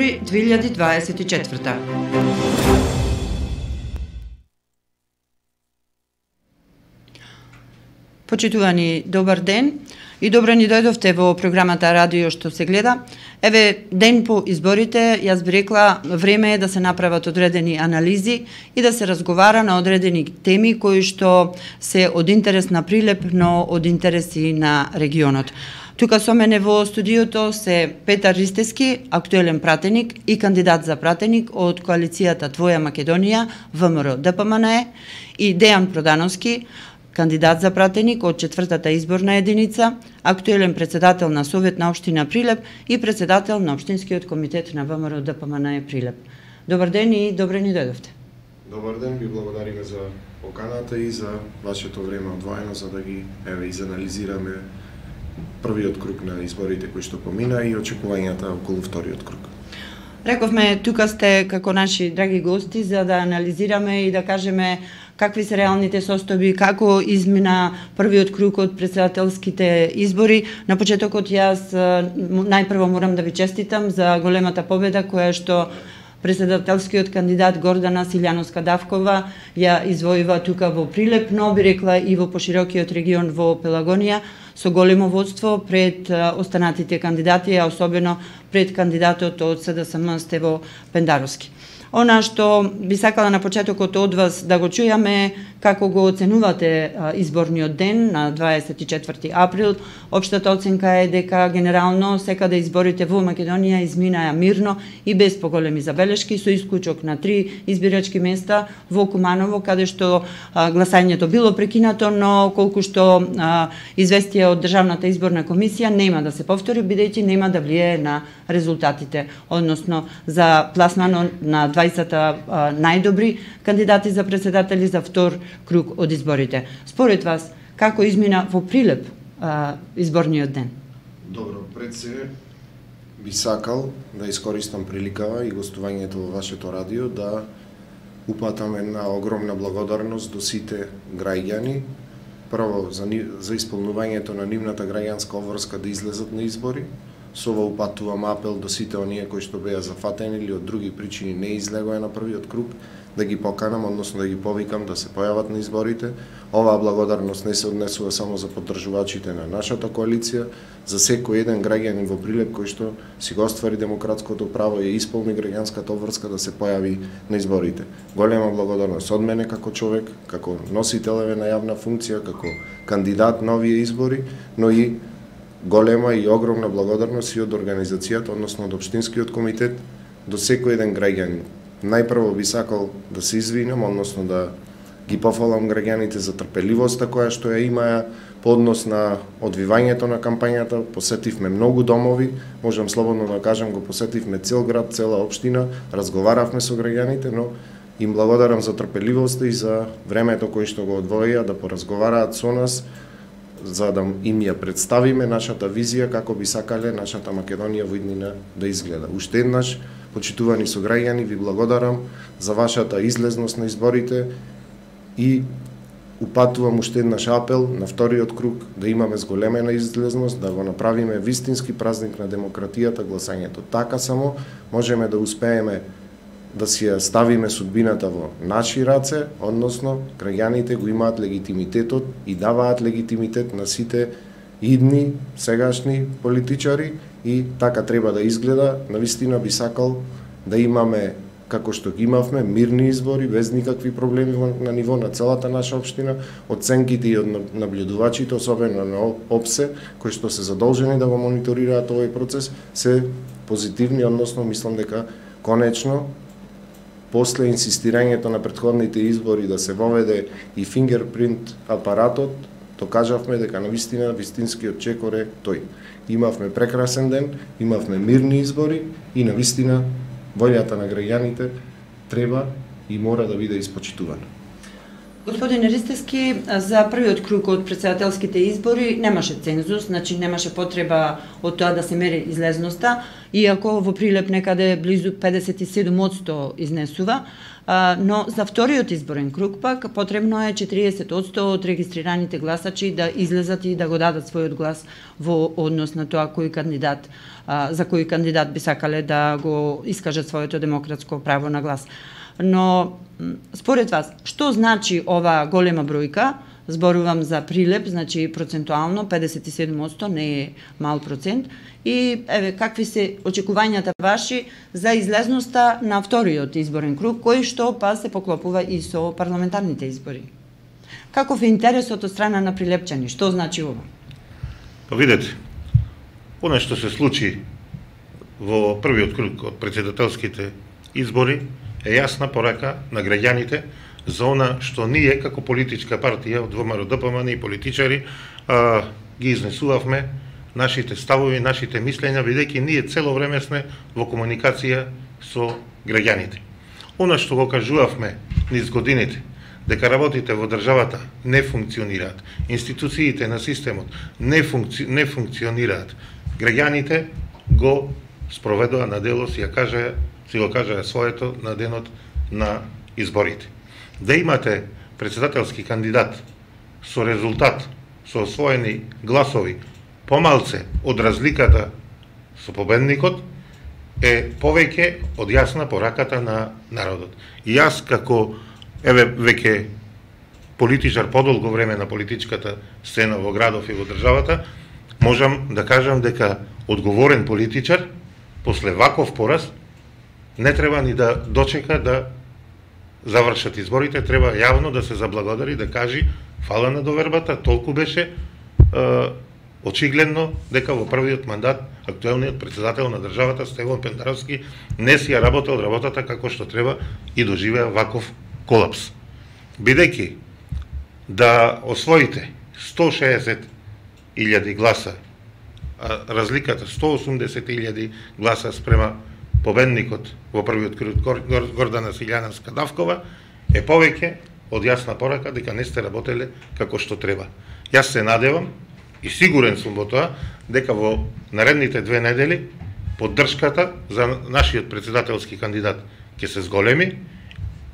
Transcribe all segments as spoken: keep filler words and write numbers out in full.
избори две илјади дваесет и четврта. Почитувани, добар ден и добро ни дојдовте во програмата Радио што се гледа. Еве, ден по изборите, јас би рекла, време е да се направат одредени анализи и да се разговара на одредени теми кои што се од интерес на Прилеп, но од интереси на регионот. Тука со мене во студиото се Петар Ристевски, актуелен пратеник и кандидат за пратеник од коалицијата Твоја Македонија, ВМРО Д П М Н Е, и Дејан Продановски, кандидат за пратеник од четвртата изборна единица, актуелен председател на Совет на општина Прилеп и председател на Општинскиот комитет на ВМРО Д П М Н Е Прилеп. Добар ден и добре ни дојдовте. Добар ден, ви благодариме за поканата и за вашето време одвоено за да ги еве изанализираме првиот круг на изборите кои што помина и очекувањата околу вториот круг. Рековме, тука сте како наши драги гости за да анализираме и да кажеме какви се реалните состојби, како измина првиот круг од претседателските избори. На почетокот јас најпрво морам да ви честитам за големата победа која што претседателскиот кандидат Гордана Силјановска-Давкова ја извојува тука во Прилеп, но би рекла и во поширокиот регион во Пелагонија, со големо водство пред останатите кандидати, а особено пред кандидатот од С Д С М Стево Пендаровски. Она што би сакала на почетокот од вас да го чујаме како го оценувате изборниот ден на дваесет и четврти април. Општата оценка е дека генерално секаде изборите во Македонија изминаа мирно и без поголеми забелешки, со исклучок на три избирачки места во Куманово, каде што а, гласањето било прекинато, но колку што а, известија од Државната изборна комисија нема да се повтори, бидејќи нема да влијае на резултатите, односно за пласмано на дваесет најдобри кандидати за председатели за втор круг од изборите. Според вас, како измина во Прилеп а, изборниот ден? Добро, пред се би сакал да искористам приликава и гостувањето во вашето радио да упатам една огромна благодарност до сите граѓани, прво за, за исполнувањето на нивната граѓанска обврска да излезат на избори. Со ова упатувам апел до сите оние кои што беа зафатени или од други причини не излегоа на првиот круг, да ги поканам, односно да ги повикам да се појават на изборите. Оваа благодарност не се однесува само за поддржувачите на нашата коалиција, за секој еден граѓанин во Прилеп кој што си го оствари демократското право и исполни граѓанската обврска да се појави на изборите. Голема благодарност од мене како човек, како носителеве на јавна функција, како кандидат на овие избори, но и голема и огромна благодарност и од организацијата, односно од Општинскиот комитет, до секој еден граѓанин. Најпрво би сакал да се извинам, односно да ги пофалам граѓаните за трпеливоста која што ја имаа по однос на одвивањето на кампањата. Посетивме многу домови, можам слободно да кажам, го посетивме цел град, цела општина, разговаравме со граѓаните, но им благодарам за трпеливоста и за времето кој што го одвоија да поразговараат со нас, за да им ја представиме нашата визија како би сакале нашата Македонија во иднина да изгледа. Уште еднаш, почитувани сограѓани, ви благодарам за вашата излезност на изборите и упатувам уште еднаш апел на вториот круг да имаме зголемена излезност, да го направиме вистински празник на демократијата, гласањето. Така само можеме да успееме да си ја ставиме судбината во наши раце, односно граѓаните го имаат легитимитетот и даваат легитимитет на сите идни, сегашни политичари и така треба да изгледа. Навистина би сакал да имаме, како што ги имавме, мирни избори, без никакви проблеми на ниво на целата наша општина. Оценките и од наблюдувачите, особено на ОПСЕ, кои што се задолжени да го мониторираат овој процес, се позитивни, односно мислам дека конечно после инсистирањето на претходните избори да се воведе и фингерпринт апаратот, докажавме дека навистина вистинскиот чекор е тој. Имавме прекрасен ден, имавме мирни избори и навистина волјата на граѓаните треба и мора да биде испочитувана. Господин Ристевски, за првиот круг од претседателските избори немаше цензус, значи немаше потреба од тоа да се мери излезноста, иако во Прилеп некаде близу педесет и седум одсто изнесува, но за вториот изборен круг пак потребно е четириесет одсто од регистрираните гласачи да излезат и да го дадат својот глас во однос на тоа кој кандидат, за кој кандидат би сакале да го искажат своето демократско право на глас. Но, според вас, што значи ова голема бројка? Зборувам за Прилеп, значи процентуално педесет и седум одсто, не е мал процент. И еве какви се очекувањата ваши за излезноста на вториот изборен круг, кој што па се поклопува и со парламентарните избори? Каков е интересот од страна на прилепчани? Што значи ова? Па видете, она што се случи во првиот круг од претседателските избори е јасна порака на граѓаните за она што ние како политичка партија од ВМРО-ДПМН и политичари а, ги изнесувавме нашите ставови, нашите мислења, бидејќи ние цело време сме во комуникација со граѓаните. Она што го кажувавме низ годините, дека работите во државата не функционираат, институциите на системот не, функци... не функционираат, граѓаните го спроведоа на дело, си ја кажа си го кажа своето на денот на изборите. Да имате претседателски кандидат со резултат, со освоени гласови, помалце од разликата со победникот, е повеќе од јасна пораката на народот. И јас како, еве, веќе политичар подолго време на политичката сцена во градов и во државата, можам да кажам дека одговорен политичар, после ваков пораз, не треба ни да дочека да завршат изборите, треба јавно да се заблагодари, да кажи фала на довербата, толку беше е, очигледно дека во првиот мандат актуелниот претседател на државата Стеван Пендаровски не си ја работел работата како што треба и доживеа ваков колапс. Бидејќи да освоите сто шеесет илјади гласа, а разликата сто осумдесет илјади гласа спрема победникот во првиот круг Гордана Силјановска Давкова е повеќе од јасна порака дека не сте работеле како што треба. Јас се надевам и сигурен сум во тоа дека во наредните две недели поддршката за нашиот претседателски кандидат ќе се зголеми,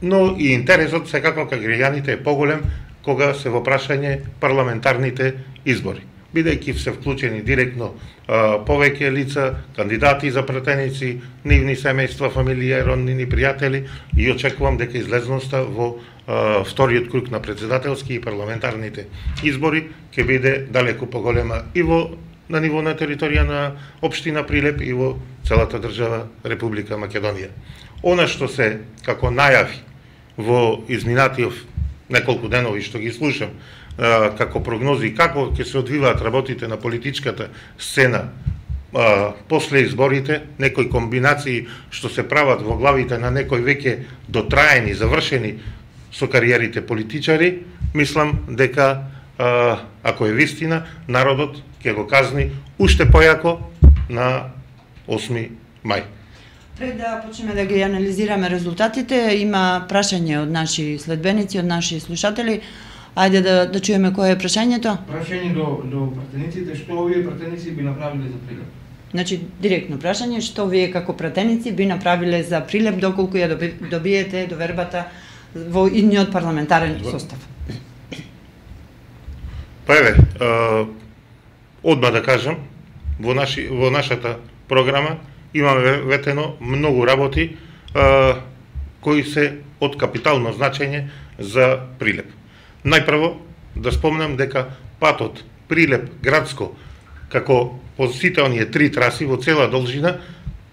но и интересот секако кај граѓаните е поголем кога се во прашање парламентарните избори, бидејќи се вклучени директно а, повеќе лица, кандидати за пратеници, нивни семејства, фамилија, роднини, пријатели, и очекувам дека излезноста во а, вториот круг на претседателски и парламентарните избори ќе биде далеку поголема и во на ниво на територија на општина Прилеп и во целата држава Република Македонија. Она што се како најави во изминатиот неколку денови што ги слушам, како прогнози како ќе се одвиваат работите на политичката сцена а, после изборите, некои комбинации што се прават во главите на некои веќе дотраени, завршени со кариерите политичари, мислам дека а, ако е вистина, народот ќе го казни уште појако на осми мај. Пред да почнеме да ги анализираме резултатите, има прашање од наши следбеници, од наши слушатели. Ајде да, да чуеме кое е прашањето. Прашање до, до пратениците, што овие пратеници би направиле за Прилеп? Значи, директно прашање, што вие како пратеници би направиле за Прилеп доколку ја доби, добиете довербата во идниот парламентарен состав? Па еве, одма да кажам, во, наши, во нашата програма имаме ветено многу работи а, кои се од капитално значење за Прилеп. Најпрво да спомнам дека патот Прилеп-Градско, како по сите оние три траси во цела должина,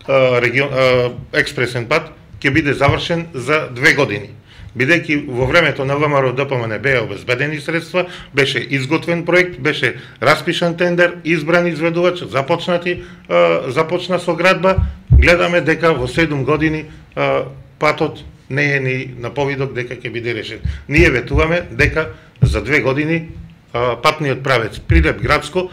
а, регион, а, експресен пат, ќе биде завршен за две години. Бидејќи во времето на ВМРО-ДПМН беа обезбедени средства, беше изготвен проект, беше распишан тендер, избран изведувач, започнати, а, започна со градба, гледаме дека во седум години а, патот не е ни на повидок дека ќе биде решен. Ние ветуваме дека за две години а, патниот правец Прилеп-Градско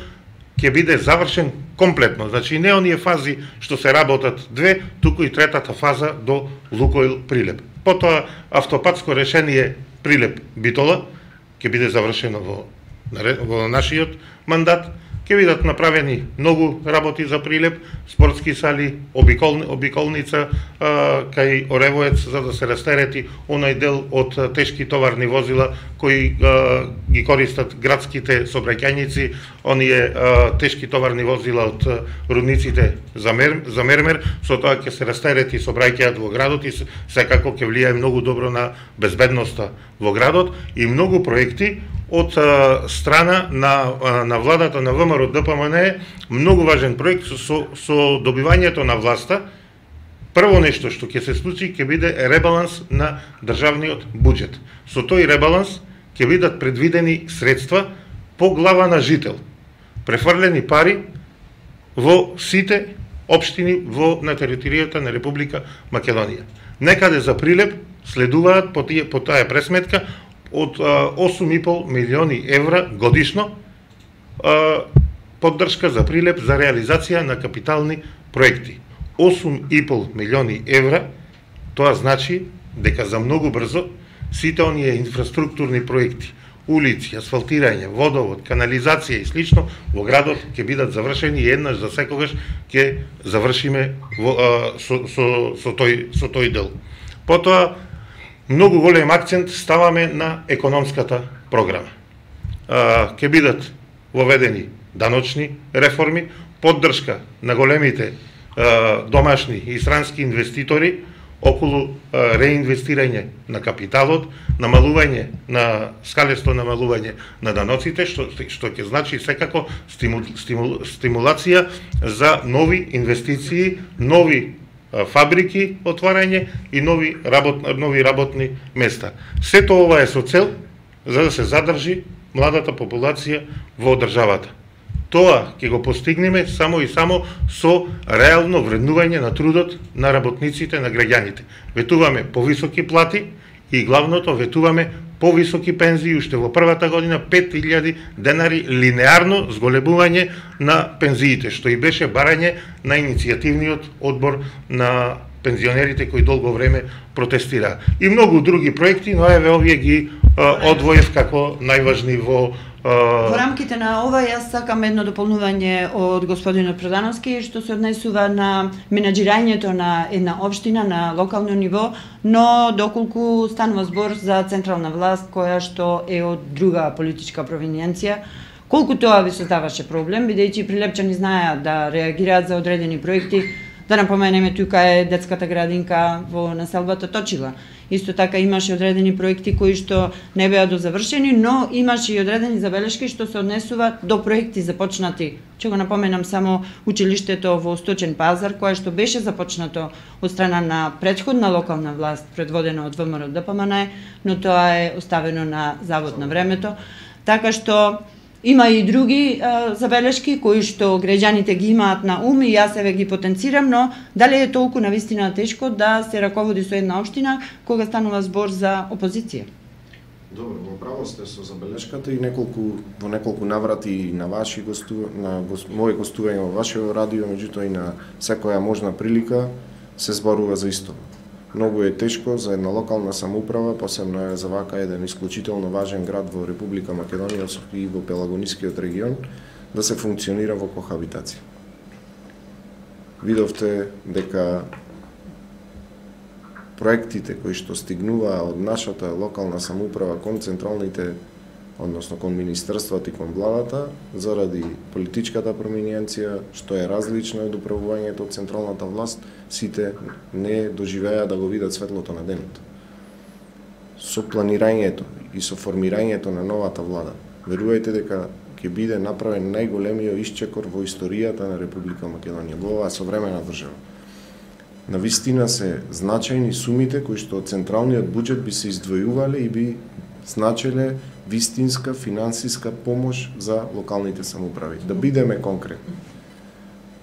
ќе биде завршен комплетно. Значи не оние фази што се работат две, туку и третата фаза до Лукойл Прилеп. Потоа автопатско решение Прилеп Битола ќе биде завршено во во нашиот мандат. Ќе бидат направени многу работи за Прилеп, спортски сали, обиколни, обиколница а, кај Оревоец, за да се растерети онај дел од тешки товарни возила кои а, ги користат градските сообраќајници, оние а, тешки товарни возила од рудниците за, мер, за Мермер, со тоа ќе се растерети сообраќајот во градот и секако ќе влијае многу добро на безбедноста во градот и многу проекти од а, страна на, а, на владата на ВМРО Д П М Н, многу важен проект со, со, со добивањето на власта. Прво нешто што ќе се случи ќе биде ребаланс на државниот буџет. Со тој ребаланс ќе бидат предвидени средства по глава на жител, префрлени пари во сите општини во на територијата на Република Македонија. Некаде за Прилеп следуваат по, тие, по таа пресметка од осум и пол милиони евра годишно а, поддршка за Прилеп за реализација на капитални проекти. осум и пол милиони евра, тоа значи дека за многу брзо сите оние инфраструктурни проекти, улици, асфалтирање, водовод, канализација и слично во градот ќе бидат завршени и еднаш за секогаш ќе завршиме во, а, со, со, со, тој, со тој дел. Потоа, многу голем акцент ставаме на економската програма. А, ке бидат воведени даночни реформи, поддршка на големите а, домашни и странски инвеститори околу а, реинвестирање на капиталот, намалување на скалесто намалување на даноците, што што ќе значи секако стимул, стимул, стимулација за нови инвестиции, нови фабрики отварање и нови работ, нови работни места. Сето ова е со цел за да се задржи младата популација во државата. Тоа ќе го постигнеме само и само со реално вреднување на трудот на работниците, на граѓаните. Ветуваме повисоки плати и главното ветуваме повисоки пензии, уште во првата година пет илјади денари линеарно зголемување на пензиите, што и беше барање на иницијативниот одбор на пензионерите кои долго време протестираа. И многу други проекти, но еве овие ги а, одвоев како најважни во Во рамките на ова, јас сакам едно дополнување од господинот Продановски, што се однесува на менаџирањето на една општина на локално ниво, но доколку станува збор за централна власт, која што е од друга политичка провиненција, колку тоа ви создаваше проблем, бидејќи прилепчани знаеа да реагираат за одредени проекти. Да напоменеме, тука е детската градинка во населбата Точила. Исто така имаше одредени проекти кои што не беа дозавршени, но имаше и одредени забелешки што се однесува до проекти започнати. Ќе го напоменам само училиштето во Сточен пазар, кое што беше започнато од страна на претходна локална власт, предводена од ВМРО Д П М Н, но тоа е оставено на завод на времето. Така што има и други а, забелешки кои што граѓаните ги имаат на ум и јас еве ги потенцирам, но дали е толку навистина тешко да се раководи со една општина кога станува збор за опозиција? Добро, во право сте со забелешката и неколку во неколку наврати на ваши гостува, на гост, мои гостувања во вашето радио, меѓутоа и на секоја можна прилика се зборува за исто. Многу е тешко за една локална самоуправа, посебно е за вака еден исклучително важен град во Република Македонија и во Пелагонискиот регион, да се функционира во кохабитација. Видовте дека проектите кои што стигнуваа од нашата локална самоуправа кон централните, односно кон министерствата и кон владата, заради политичката проминенција, што е различно од управувањето од централната власт, сите не доживеа да го видат светлото на денот. Со планирањето и со формирањето на новата влада, верувајте дека ќе биде направен најголемиот исчекор во историјата на Република Македонија, во оваа современа држава. Навистина се значајни сумите кои што од централниот буџет би се издвојувале и би значеле вистинска финансиска помош за локалните самоуправи. Да бидеме конкретни.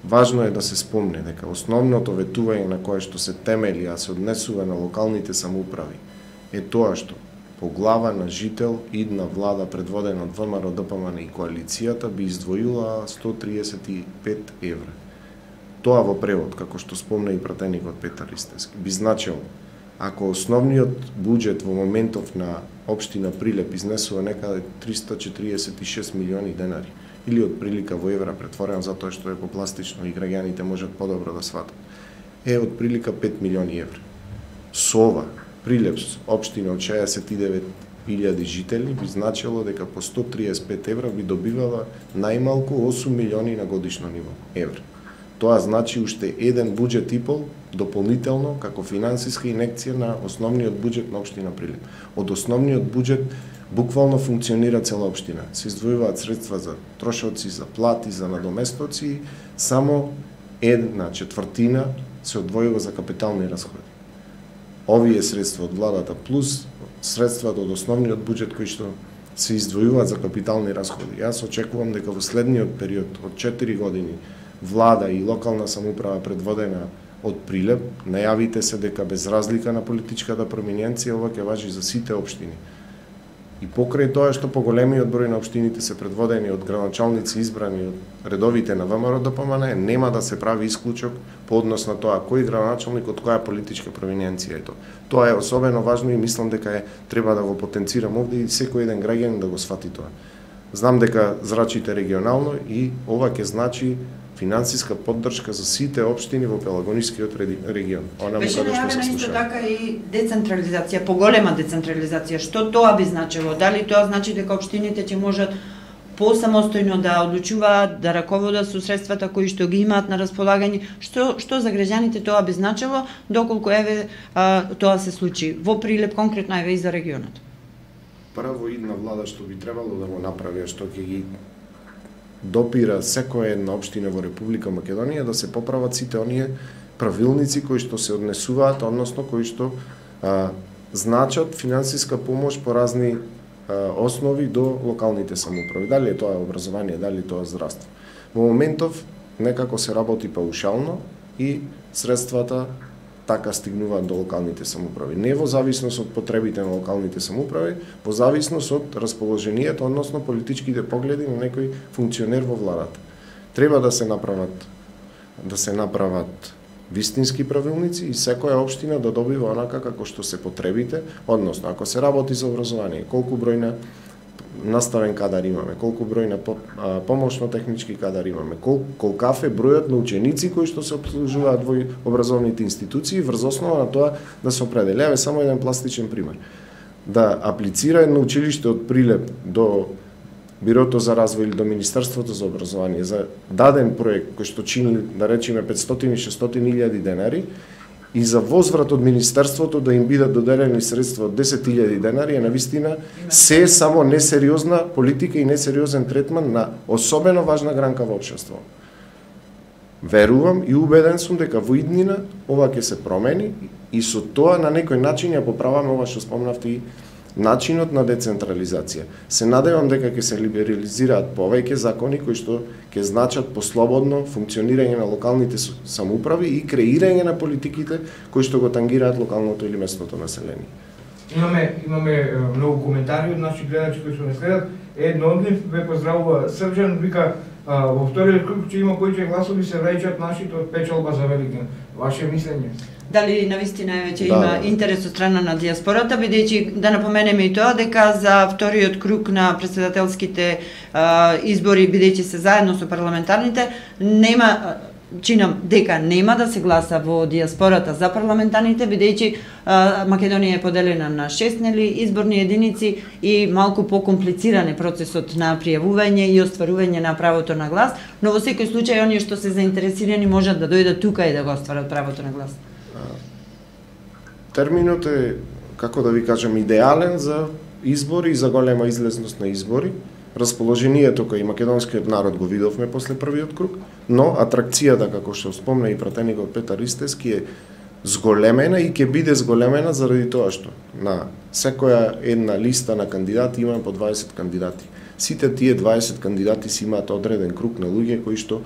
Важно е да се спомне дека основното ветување на кое што се темели, а се однесува на локалните самоуправи, е тоа што по глава на жител идна влада предводена од ВМРО Д П М Н и коалицијата би издвоила сто триесет и пет евра. Тоа во превод, како што спомна и пратеникот Петар Ристевски, би значело Ако основниот буџет во моментов на општина Прилеп изнесува некаде триста четириесет и шест милиони денари, или од прилика во евра претворен затоа што е попластично и граѓаните можат подобро да сватат, е од прилика пет милиони евра. Со ова, Прилеп, општина од шеесет и девет илјади жители, би значило дека по сто триесет и пет евра би добивала најмалку осум милиони на годишно ниво евра. Тоа значи уште еден буџет и пол дополнително како финансиска инекција на основниот буџет на општина Прилеп. Од основниот буџет буквално функционира цела општина. Се издвојуваат средства за трошоци, за плати, за надоместоци, само една четвртина се одвојува за капитални расходи. Овие средства од владата плюс средствата од основниот буџет кои што се издвојуваат за капитални расходи. Јас очекувам дека во следниот период од четири години влада и локална самоуправа предводена од Прилеп, најавите се дека без разлика на политичката проминенција ова ќе важи за сите општини. И покрај тоа што поголемиот број на општините се предводени од градоначалници избрани од редовите на ВМРО Д П М Н, нема да се прави исклучок по однос на тоа кој градоначалник од која политичка провиненција е тоа. Тоа е особено важно и мислам дека е треба да го потенцирам овде и секој еден граѓанин да го сфати тоа. Знам дека зрачите регионално и ова ќе значи финансиска поддршка за сите општини во Пелагонискиот регион. Она беше најавена исто така и децентрализација, поголема децентрализација. Што тоа би значило? Дали тоа значи дека општините ќе можат посамостојно да одлучуваат, да раководат со средствата кои што ги имаат на располагање? Што што за граѓаните тоа би значило доколку еве а, тоа се случи во Прилеп конкретно еве и за регионот? Прво идна влада што би требало да го направи, што ќе ги допира секоја една општина во Република Македонија да се поправат сите оние правилници кои што се однесуваат, односно кои што а, значат финансиска помош по разни а, основи до локалните самоуправи. Дали е тоа образование, дали тоа здравство. Во моментов некако се работи паушално и средствата така стигнуваат до локалните самоуправи. Не во зависност од потребите на локалните самоуправи, во зависност од расположението, односно политичките погледи на некој функционер во владата. Треба да се направат да се направат вистински правилници и секоја општина да добива онака како што се потребите, односно ако се работи за образование, колку број на наставен кадар имаме, колку број на помошно-технички кадар имаме, кол, колкав е бројот на ученици кои што се обслужуваат во образовните институции, врз основа на тоа да се определи. Еве само еден пластичен пример. Да аплицира едно училиште од Прилеп до Бирото за развој или до Министерството за образование за даден проект кој што чини, да речеме, петстотини до шестстотини илјади денари, и за возврат од Министерството да им бидат доделени средства од десет илјади денари е навистина се е само несериозна политика и несериозен третман на особено важна гранка во општеството. Верувам и убеден сум дека во иднина ова ќе се промени и со тоа на некој начин ја поправаме ова што спомнавте и начинот на децентрализација. Се надевам дека ќе се либерализираат повеќе закони кои што ќе значат послободно функционирање на локалните самоуправи и креирање на политиките кои што го тангираат локалното или местното население. Имаме имаме многу коментари од наши гледачи кои што не следат. Едно од нив ве поздравува Срđan, вика во вториот круг ќе има повеќе гласови се враќаат нашите од печалба за Великден. Ваше мислење? Дали навистина веќе да, има да. интерес од страна на диаспората, бидејќи да напоменеме и тоа дека за вториот круг на претседателските а, избори, бидејќи се заедно со парламентарните, нема чинам дека нема да се гласа во диаспората за парламентарните, бидејќи Македонија е поделена на шест нели изборни единици и малку покомплициран е процесот на пријавување и остварување на правото на глас, но во секој случај оние што се заинтересирани можат да дојдат тука и да го остварат правото на глас. Терминот е, како да ви кажам, идеален за избори и за голема излезност на избори. Расположението кој и македонскиот народ го видовме после првиот круг, но атракцијата, како што спомна и пратеникот Петар Истевски, е зголемена и ќе биде зголемена заради тоа што на секоја една листа на кандидати има по дваесет кандидати. Сите тие дваесет кандидати си имаат одреден круг на луѓе кои што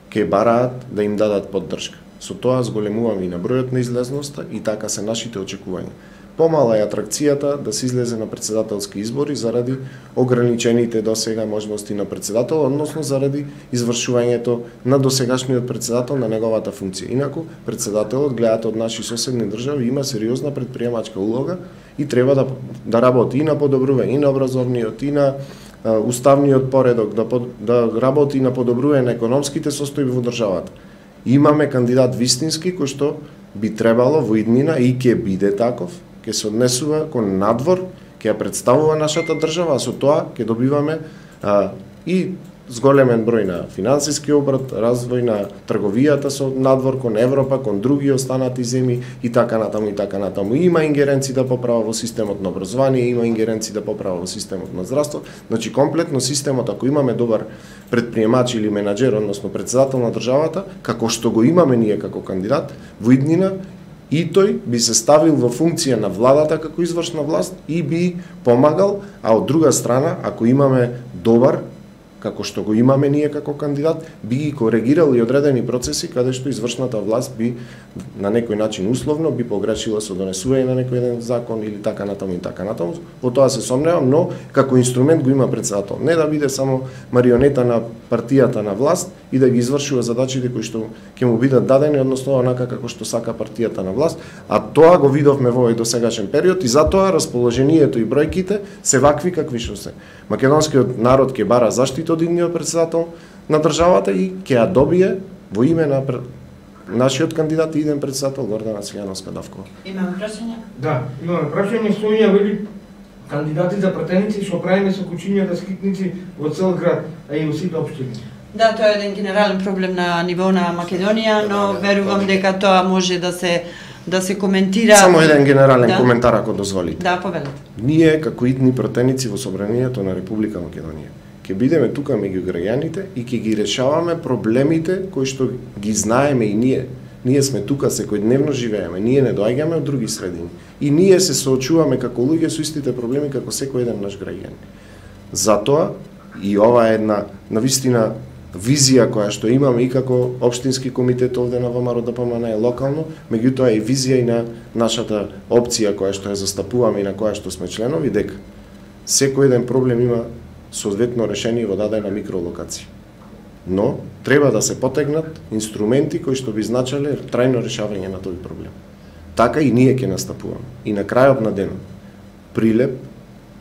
ќе бараат да им дадат поддршка. Со тоа зголемуваме и на бројот на излезноста и така се нашите очекувања. помала е атракцијата да се излезе на председателски избори заради ограничените досега можности на председател, односно заради извршувањето на досегашниот председател на неговата функција. Инаку, председателот, гледате од наши соседни држави, има сериозна предприемачка улога и треба да, да работи и на подобрување и на образовниот, и на а, уставниот поредок, да, да работи и на подобрување на економските состојби во државата. Имаме кандидат вистински кој што би требало во иднина и ќе биде таков, ќе се однесува кон надвор, ќе ја представува нашата држава, а со тоа ќе добиваме а, и зголемен број на финансиски обрат, развој на трговијата со надвор кон Европа, кон други останати земји и така натаму и така натаму. Има ингеренци да поправа во системот на образование, има ингеренци да поправа во системот на здравство. Значи комплетно системот, ако имаме добар предприемач или менаџер, односно председател на државата, како што го имаме ние како кандидат, во иднина и тој би се ставил во функција на владата како извршна власт и би помагал, а од друга страна, ако имаме добар, како што го имаме ние како кандидат, би ги коригирал и одредени процеси каде што извршната власт би на некој начин условно би погрешила со донесување на некој еден закон или така натаму и така натаму. Во тоа се сомневам, но како инструмент го има председател. Не да биде само марионета на партијата на власт и да ги извршува задачите кои што ќе му бидат дадени, односно онака како што сака партијата на власт, а тоа го видовме во овој досегашен период и затоа расположението и бројките се вакви какви што се. Македонскиот народ ќе бара заштита од идниот председател на државата и ќе ја добие во име на нашиот кандидат и иден председател Гордана Цвијановска-Давкова. Имаме прашање? Да, имаме прашање. Сонја вели кандидати за пратеници што правиме со кучињата скитници во цел град, а и во сите општини. Да, тоа е еден генерален проблем на ниво на Македонија, но верувам дека тоа може да се да се коментира. Само еден генерален да? коментар ако дозволите. Да, повелете. Ние како идни пратеници во собранието на Република Македонија ќе бидеме тука меѓу граѓаните и ќе ги решаваме проблемите кои што ги знаеме и ние. Ние сме тука, секојдневно живееме, ние не доаѓаме од други средини. И ние се соочуваме како луѓе со истите проблеми како секој еден наш граѓанин. Затоа и ова е една навистина визија која што имаме и како општински комитет овде на ВМРО Д П М Н локално, меѓутоа и визија и на нашата опција која што ја застапуваме и на која што сме членови, дека секој еден проблем има соодветно решение во дадена микролокација. Но треба да се потегнат инструменти кои што би значеле трајно решавање на тој проблем. Така и ние ќе настапуваме. И на крајот на денот Прилеп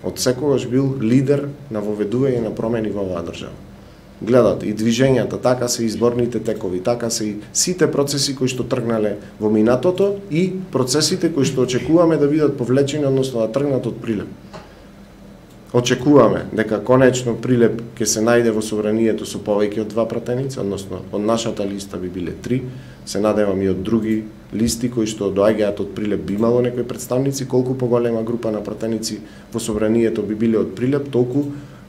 од секогаш бил лидер на воведување на промени во оваа држава. Гледате, и движењата, така се изборните текови, така се и сите процеси кои што тргнале во минатото и процесите кои што очекуваме да бидат повлечени, односно да тргнат од Прилеп. Очекуваме дека конечно Прилеп ќе се најде во собранието со повеќе од два пратеници, односно од нашата листа би биле три, се надевам и од други листи кои што доаѓаат од Прилеп би имало некои представници, колку поголема група на пратеници во собранието би биле од Прилеп, толку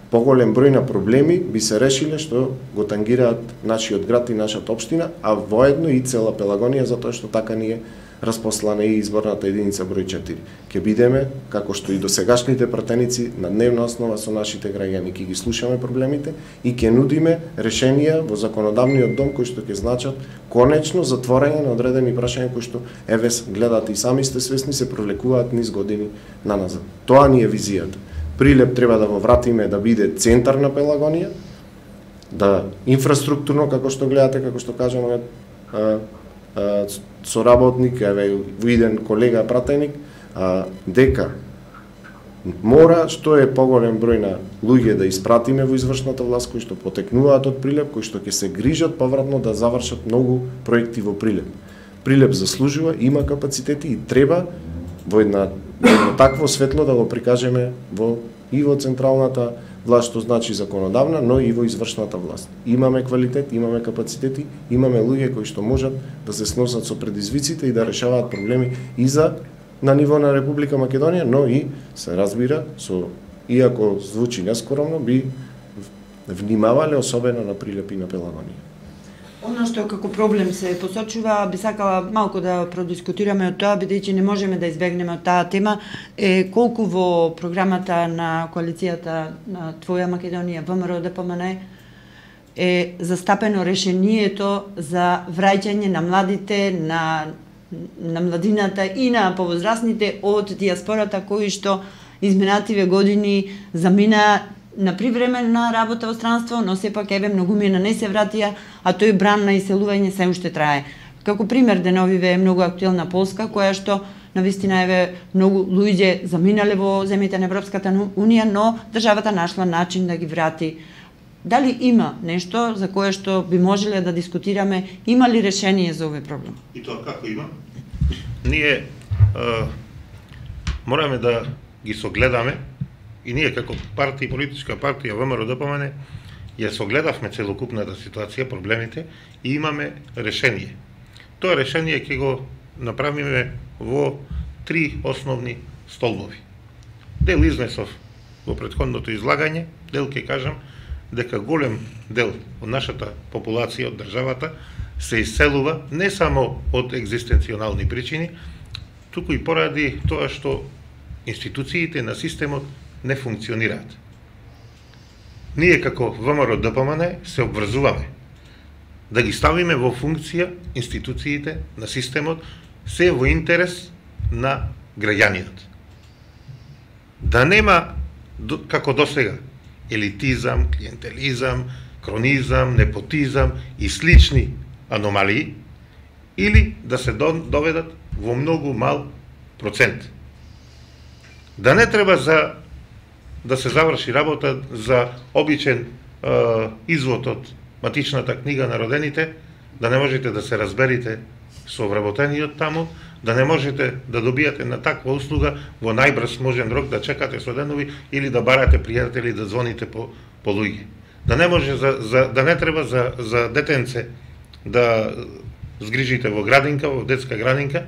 поголем број на проблеми би се решиле што го тангираат нашиот град и нашата општина, а воедно и цела Пелагонија, затоа што така ни е распослана и изборната единица број четири. Ке бидеме, како што и досегашните пратеници, на дневна основа со нашите граѓани, ќе ги слушаме проблемите и ќе нудиме решенија во законодавниот дом кои што ќе значат конечно затворање на одредени прашања кои што еве гледате и сами сте свесни се провлекуваат низ години наназад. Тоа ни е визијата. Прилеп треба да го вратиме да биде центар на Пелагонија, да инфраструктурно, како што гледате, како што кажаме, соработник, еве во иден колега пратеник, дека мора што е поголем број на луѓе да испратиме во извршната власт кои што потекнуваат од Прилеп, кои што ќе се грижат повратно да завршат многу проекти во Прилеп. Прилеп заслужува, има капацитети и треба во една едно такво светло да го прикажеме во и во централната власт, што значи законодавна, но и во извршната власт. Имаме квалитет, имаме капацитети, имаме луѓе кои што можат да се сносат со предизвиците и да решаваат проблеми и за на ниво на Република Македонија, но и се разбира со, иако звучи нескоромно, би внимавале особено на Прилеп и на Пелагонија. Оно што како проблем се посочува, би сакала малку да продискутираме од тоа, бидејќи не можеме да избегнеме од таа тема, е колку во програмата на коалицијата на Твоја Македонија, ВМРО Д П М Н, е застапено решението за враќање на младите на на младината и на повозрастните од диаспората кои што изминативе години замина на привременна работа во странство, но сепак еве многумина не се вратија, а тој бран на иселување се уште трае. Како пример деновиве е многу актуелна Полска, која што навистина еве многу луѓе заминале во земјите на Европската унија, но државата нашла начин да ги врати. Дали има нешто за кое што би можеле да дискутираме, има ли решение за овој проблем? И тоа како има? Ние а, мораме да ги согледаме и ние како партија, политичка партија ВМРО-ДПМН ја согледавме целокупната ситуација, проблемите и имаме решение. Тоа решение ќе го направиме во три основни столбови. Дел изнесов во претходното излагање, дел ќе кажам дека голем дел од нашата популација, од државата, се иселува не само од екзистенционални причини, туку и поради тоа што институциите на системот не функционираат. Ние како ВМРО-ДПМН се обврзуваме да ги ставиме во функција институциите на системот, се во интерес на граѓаниот. Да нема, како досега, елитизам, клиентелизам, кронизам, непотизам и слични аномалии, или да се доведат во многу мал процент. Да не треба за да се заврши работа за обичен е, извод од матичната книга на родените, да не можете да се разберите со вработениот таму, да не можете да добијате на таква услуга во најбрз можен рок, да чекате со денови или да барате пријатели, да звоните по, по луѓе. Да не може за, за да не треба за за детенце да згрижите во градинка, во детска градинка,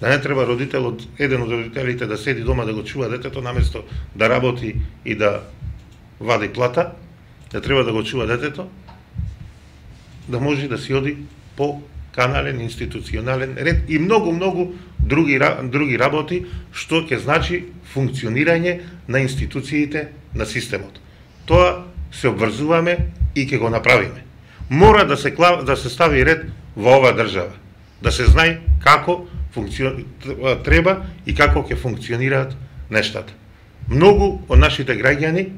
да не треба родителот, еден од родителите да седи дома да го чува детето наместо да работи и да вади плата, да треба да го чува детето, да може да си оди по канален, институционален ред и многу-многу други, други работи, што ќе значи функционирање на институциите на системот. Тоа се обврзуваме и ќе го направиме. Мора да се, да се стави ред во оваа држава, да се знае како функци... треба и како ќе функционираат нештата. Многу од нашите граѓани,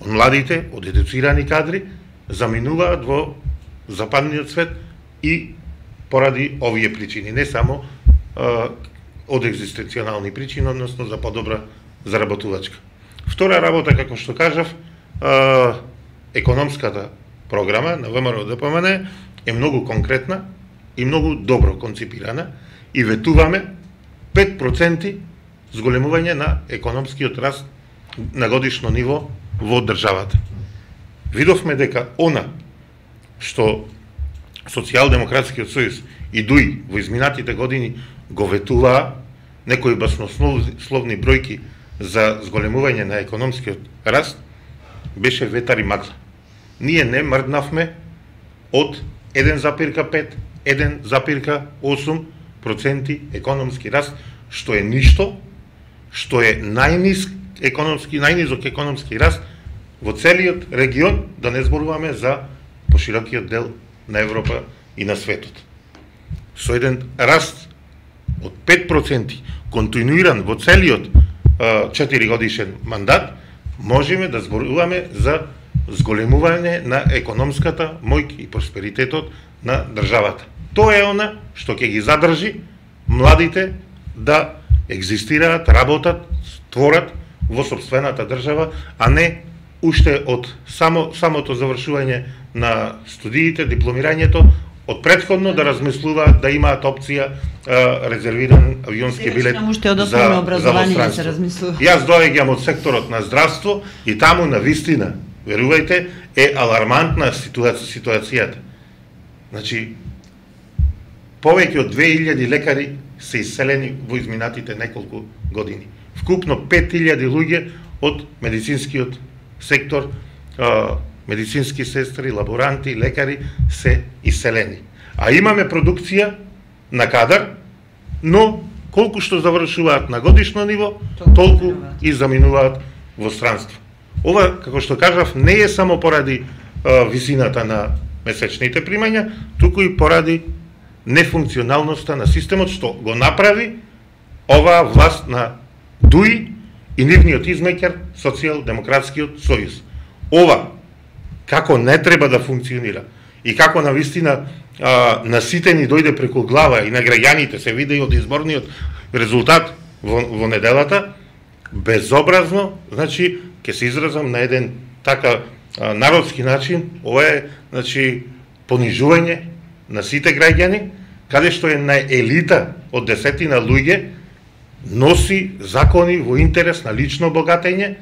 од младите, од едуцирани кадри, заминуваат во западниот свет и поради овие причини, не само а, од екзистенционални причини, односно за подобра заработувачка. Втора работа, како што кажав, а, економската програма на ВМРО-ДПМН е многу конкретна и многу добро конципирана и ветуваме пет проценти зголемување на економскиот раст на годишно ниво во државата. Видовме дека она што Социјалдемократскиот сојуз и ДУИ во изминатите години го ветуваа, некои баснословни бројки за зголемување на економскиот раст, беше ветар и магла. Ние не мрднавме од еден запир пет, еден запир осум проценти економски раст, што е ништо, што е најниск економски, најнизок економски раст во целиот регион, да не зборуваме за поширокиот дел на Европа и на светот. Со еден раст од пет проценти, континуиран во целиот четири годишен мандат, можеме да зборуваме за зголемување на економската моќ и просперитетот на државата. Тоа е она што ќе ги задржи младите да екзистираат, работат, творат во сопствената држава, а не уште од само, самото завршување на студиите, дипломирањето, од предходно да размислуваат да имаат опција а, резервиран авионски билет за, за востранство. Јас доаѓам од секторот на здравство и таму на вистина, верувајте, е алармантна ситуација, ситуацијата. Значи, повеќе од две илјади лекари се иселени во изминатите неколку години. Вкупно пет илјади луѓе од медицинскиот сектор, а, медицински сестри, лаборанти, лекари се иселени. А имаме продукција на кадар, но колку што завршуваат на годишно ниво, толку и заминуваат во странство. Ова, како што кажав, не е само поради а, висината на месечните примања, туку и поради нефункционалноста на системот што го направи оваа власт на Дуи и нивниот измеќар Социјалдемократскиот сојуз. Ова како не треба да функционира и како навистина а, на сите ни дојде преку глава и на граѓаните се види од изборниот резултат во, во неделата, безобразно, значи ќе се изразам на еден така а, народски начин, ова е значи понижување на сите граѓани, каде што е на елита од десетина луѓе носи закони во интерес на лично богатење,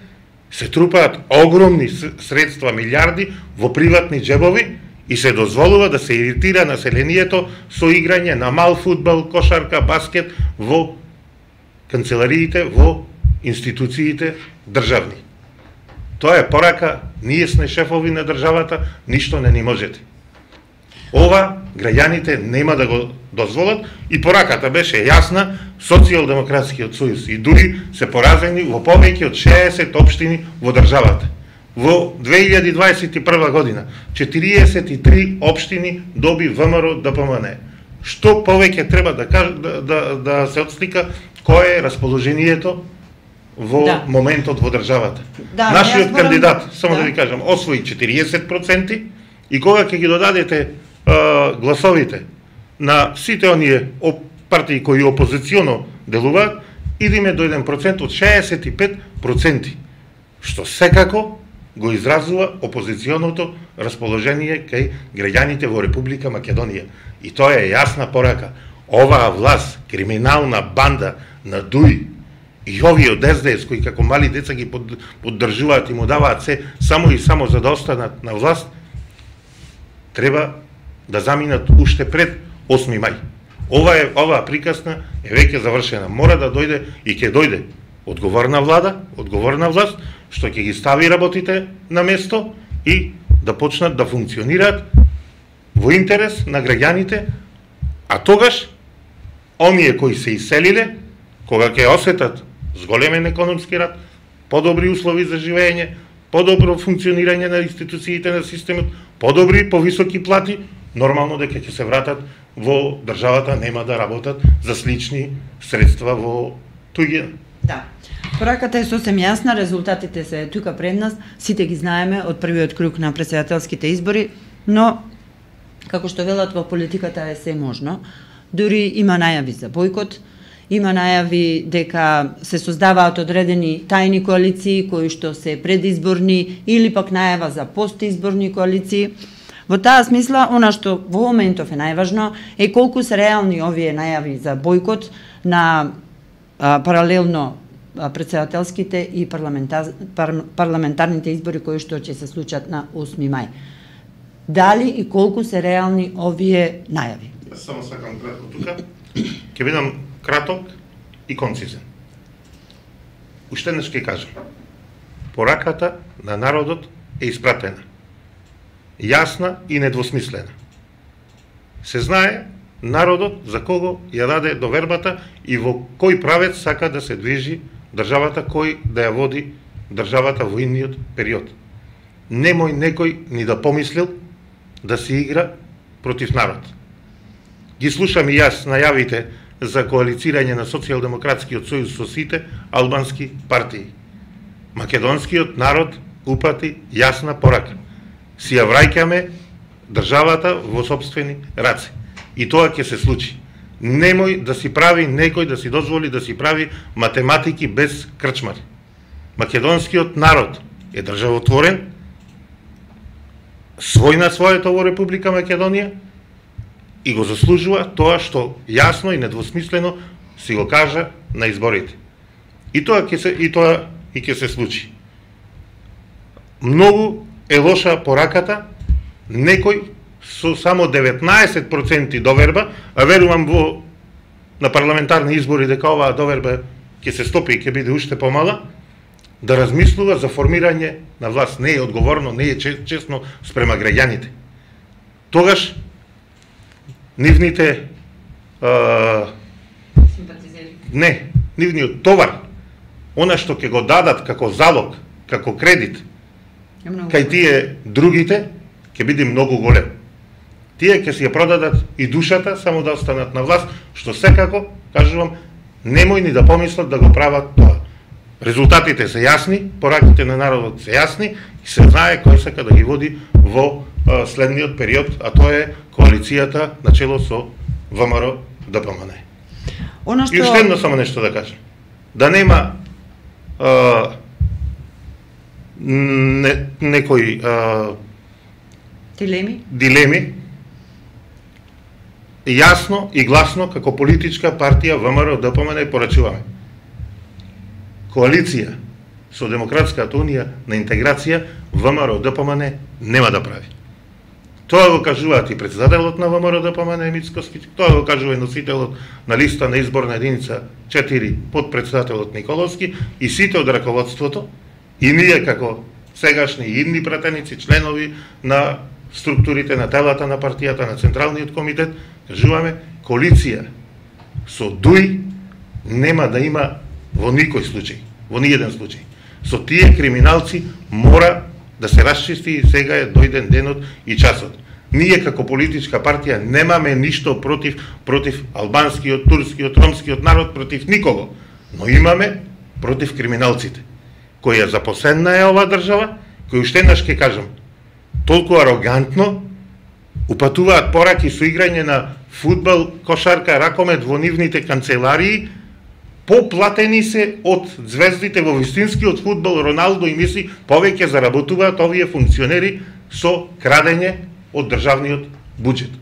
се трупаат огромни средства, милиарди во приватни џебови и се дозволува да се иритира населението со играње на мал фудбал, кошарка, баскет во канцелариите, во институциите државни. Тоа е порака, ние сме шефови на државата, ништо не ни можете. Ова граѓаните нема да го дозволат и пораката беше јасна, Социјалдемократскиот сојуз и Дуи се поразени во повеќе од шеесет општини во државата. Во две илјади дваесет и прва година четириесет и три општини доби ВМРО ДПМН. Што повеќе треба да каже, да, да, да се отслика кое е расположението во да. моментот во државата. Да, Нашиот морам... кандидат, само да. да ви кажам, освои четириесет проценти и кога ќе ги додадете а, гласовите на сите оние партии кои опозиционо делуваат, идеме до еден процент од шеесет и пет проценти, што секако го изразува опозиционото расположение кај граѓаните во Република Македонија. И тоа е јасна порака. Оваа власт, криминална банда на Дуи и овие од Ес Де Ес кои како мали деца ги поддржуваат и му даваат се само и само за да останат на власт, треба да заминат уште пред осми мај. Ова е оваа приказна е веќе завршена. Мора да дојде и ќе дојде одговорна влада, одговорна власт што ќе ги стави работите на место и да почнат да функционираат во интерес на граѓаните, а тогаш оние кои се иселиле, кога ќе осетат зголемен економски рад, подобри услови за живење, подобро функционирање на институциите на системот, подобри, повисоки плати, нормално дека ќе се вратат во државата, нема да работат за слични средства во туѓина. Да. Пораката е сосем јасна, резултатите се тука пред нас, сите ги знаеме од првиот круг на претседателските избори, но како што велат во политиката е се можно. Дури има најави за бојкот, има најави дека се создаваат одредени тајни коалиции кои што се предизборни или пак најава за постизборни коалиции. Во таа смисла, она што во моментов е најважно е колку се реални овие најави за бојкот на а, паралелно а, претседателските и парламентар, пар, парламентарните избори кои што ќе се случат на осми мај. Дали и колку се реални овие најави? Само сакам кратко тука. Ќе бидам краток и концизен. Уште еднаш ќе кажам. Пораката на народот е испратена. Јасна и недвосмислена. Се знае народот за кого ја даде довербата и во кој правец сака да се движи државата, кој да ја води државата во идниот период. Немој некој ни да помислил да се игра против народ. Ги слушам и јас најавите за коалицирање на Социјалдемократскиот сојуз со сите албански партии. Македонскиот народ упати јасна порака. Си ја враќаме државата во сопствени раце. И тоа ќе се случи. Немој да си прави некој да си дозволи да си прави математики без крчмари. Македонскиот народ е државотворен, свој на своето во Република Македонија и го заслужува тоа што јасно и недвосмислено си го кажа на изборите. И тоа ќе се и тоа и ќе се случи. Многу е лоша пораката некој со само деветнаесет проценти доверба, а верувам во на парламентарни избори дека оваа доверба ќе се стопи и ќе биде уште помала, да размислува за формирање на власт. Не е одговорно, не е честно спрема граѓаните. Тогаш нивните а, не, нивниот товар, она што ќе го дадат како залог, како кредит, кај тие другите, ќе биде многу голем. тие ќе си ја продадат и душата само да останат на власт, што секако, кажувам, немој ни да помислат да го прават тоа. Резултатите се јасни, пораките на народот се јасни и се знае кој сака да ги води во а, следниот период, а тоа е коалицијата на чело со ВМРО Д П М Н. Оно што... И уште едно само нешто да кажам. Да нема а, не, некои а, дилеми? дилеми, јасно и гласно како политичка партија ВМРО Д П М Н порачуваме. Коалиција со Демократската унија на интеграција ВМРО Д П М Н нема да прави. Тоа го кажуваат и председателот на ВМРО Д П М Н Мицкоски, тоа го кажува и носителот на листа на изборна единица четири, подпредседателот Николовски и сите од раководството, и ние како сегашни и идни пратеници, членови на структурите на телата на партијата, на Централниот комитет, кажуваме, коалиција со ДУИ нема да има во никој случај, во ниеден случај. Со тие криминалци мора да се расчисти и сега е дојден денот и часот. Ние како политичка партија немаме ништо против против албанскиот, турскиот, ромскиот народ, против никого, но имаме против криминалците, кои ја запоследна е оваа држава, кои уште еднаш ќе кажам, толку арогантно упатуваат пораки со играње на фудбал, кошарка, ракомет во нивните канцеларии, поплатени се од звездите во вистинскиот фудбал, Роналдо и Меси, повеќе заработуваат овие функционери со крадење од државниот буџет.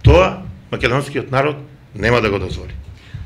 Тоа македонскиот народ нема да го дозволи.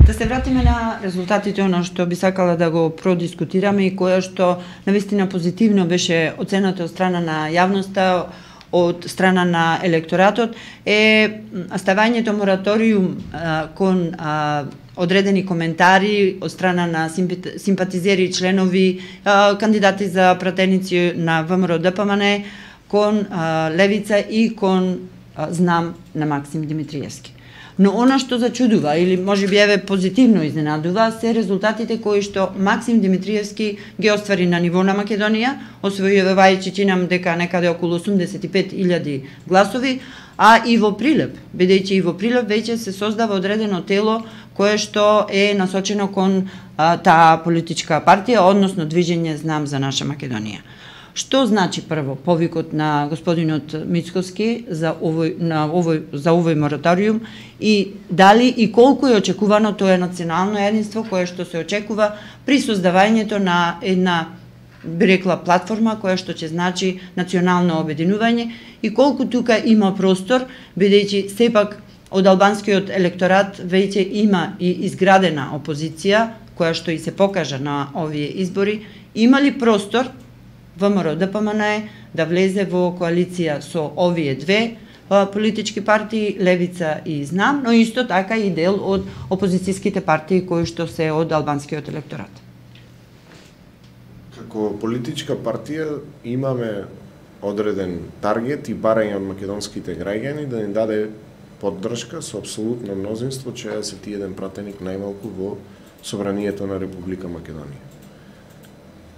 Да се вратиме на резултатите, оно што би сакала да го продискутираме и кое што навистина позитивно беше оценато од страна на јавноста, од страна на електоратот, е ставањето мораториум а, кон а, одредени коментари од страна на симпатизери и членови, а, кандидати за пратеници на ВМРО Д П М Н, кон а, Левица и кон а, знам на Максим Димитриевски. Но она што зачудува, или може би еве позитивно изненадува, се резултатите кои што Максим Димитриевски ги оствари на ниво на Македонија, освојувајќи чинам дека некаде околу осумдесет и пет илјади гласови, а и во Прилеп, бидејќи и во Прилеп веќе се создава одредено тело кое што е насочено кон а, таа политичка партија, односно движење Знам за наша Македонија. Што значи прво повикот на господинот Мицкоски за овој на овој за овој мораториум и дали и колку е очекувано тоа национално единство кое што се очекува при создавањето на една, би рекла, платформа која што ќе значи национално обединување и колку тука има простор, бидејќи сепак од албанскиот електорат веќе има и изградена опозиција која што и се покажа на овие избори, има ли простор ВМРО Д П М Н да влезе во коалиција со овие две а, политички партии, Левица и Знам, но исто така и дел од опозицијските партии кои што се од албанскиот електорат. Како политичка партија имаме одреден таргет и барање од македонските граѓани да ни даде поддршка со апсолутно мнозинство, че се ти еден пратеник најмалку во Собранието на Република Македонија.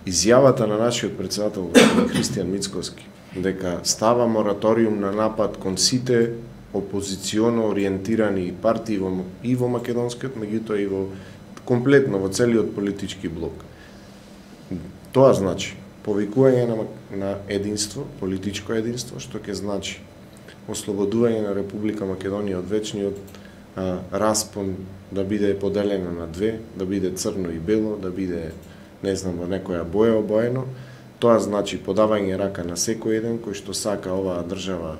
Изјавата на нашиот председател Христијан Мицкоски дека става мораториум на напад кон сите опозиционо ориентирани партии во, и во македонскиот, меѓутоа и во комплетно во целиот политички блок. Тоа значи повикување на, на единство, политичко единство, што ќе значи ослободување на Република Македонија од вечниот а, распон да биде поделена на две, да биде црно и бело, да биде не знам, во некоја боја обоено. Тоа значи подавање рака на секој еден кој што сака оваа држава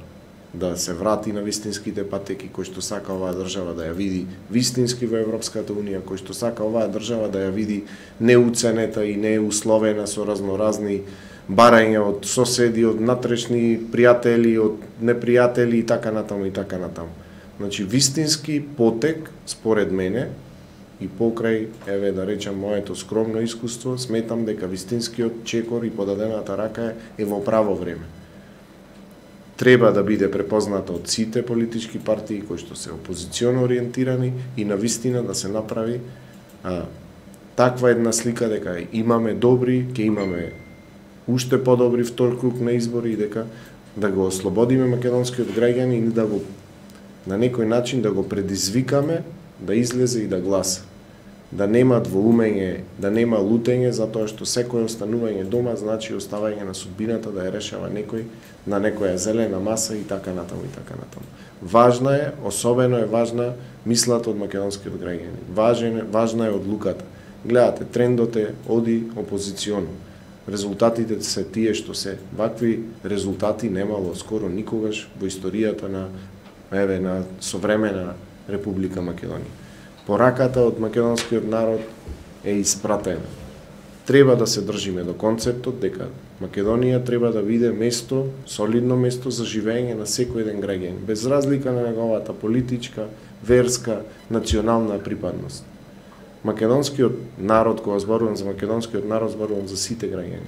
да се врати на вистинските патеки, кој што сака оваа држава да ја види вистински во Европската Унија, кој што сака оваа држава да ја види неуценета и неусловена со разноразни барања од соседи, од натрешни пријатели, од непријатели и така натаму и така натаму. Значи вистински потек, според мене, и покрај, еве да речам, моето скромно искуство, сметам дека вистинскиот чекор и подадената рака е во право време. Треба да биде препозната од сите политички партии кои што се опозиционо ориентирани и на вистина да се направи а, таква една слика дека имаме добри, ќе имаме уште подобри втор круг на избори и дека да го ослободиме македонскиот граѓани и да го на некој начин да го предизвикаме да излезе и да гласа. Да нема двоумење, да нема лутење, затоа што секој останување дома значи оставање на судбината да ја решава некој на некоја зелена маса и така натаму и така натаму. Важна е, особено е важна мислата од македонскиот граѓани. Важен, важна е одлуката. Гледате, трендот е оди опозиционо. Резултатите се тие што се. Вакви резултати немало скоро никогаш во историјата на еве на современа Република Македонија. Пораката од македонскиот народ е испратена. Треба да се држиме до концептот дека Македонија треба да биде место, солидно место за живење на секој еден граѓанин, без разлика на неговата политичка, верска, национална припадност. Македонскиот народ, кога зборувам за македонскиот народ, зборувам за сите граѓани.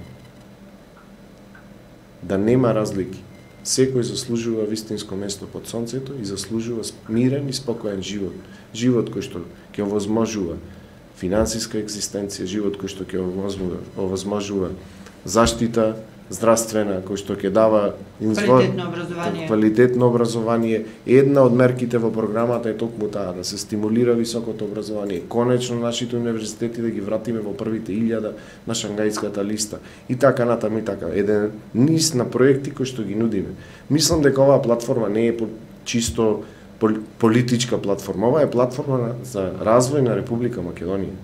Да нема разлики. Секој заслужува вистинско место под сонцето и заслужува мирен и спокоен живот. Живот кој што ќе овозможува финансиска екзистенција, живот кој што ќе овозможува заштита здравствена, кој што ќе дава квалитетно образование. Квалитетно образование. Една од мерките во програмата е токму таа, да се стимулира високото образование. Конечно нашите универзитети да ги вратиме во првите илјада на Шангајската листа. И така натаму и така. Еден низ на проекти кои што ги нудиме. Мислам дека оваа платформа не е чисто политичка платформа, ова е платформа за развој на Република Македонија.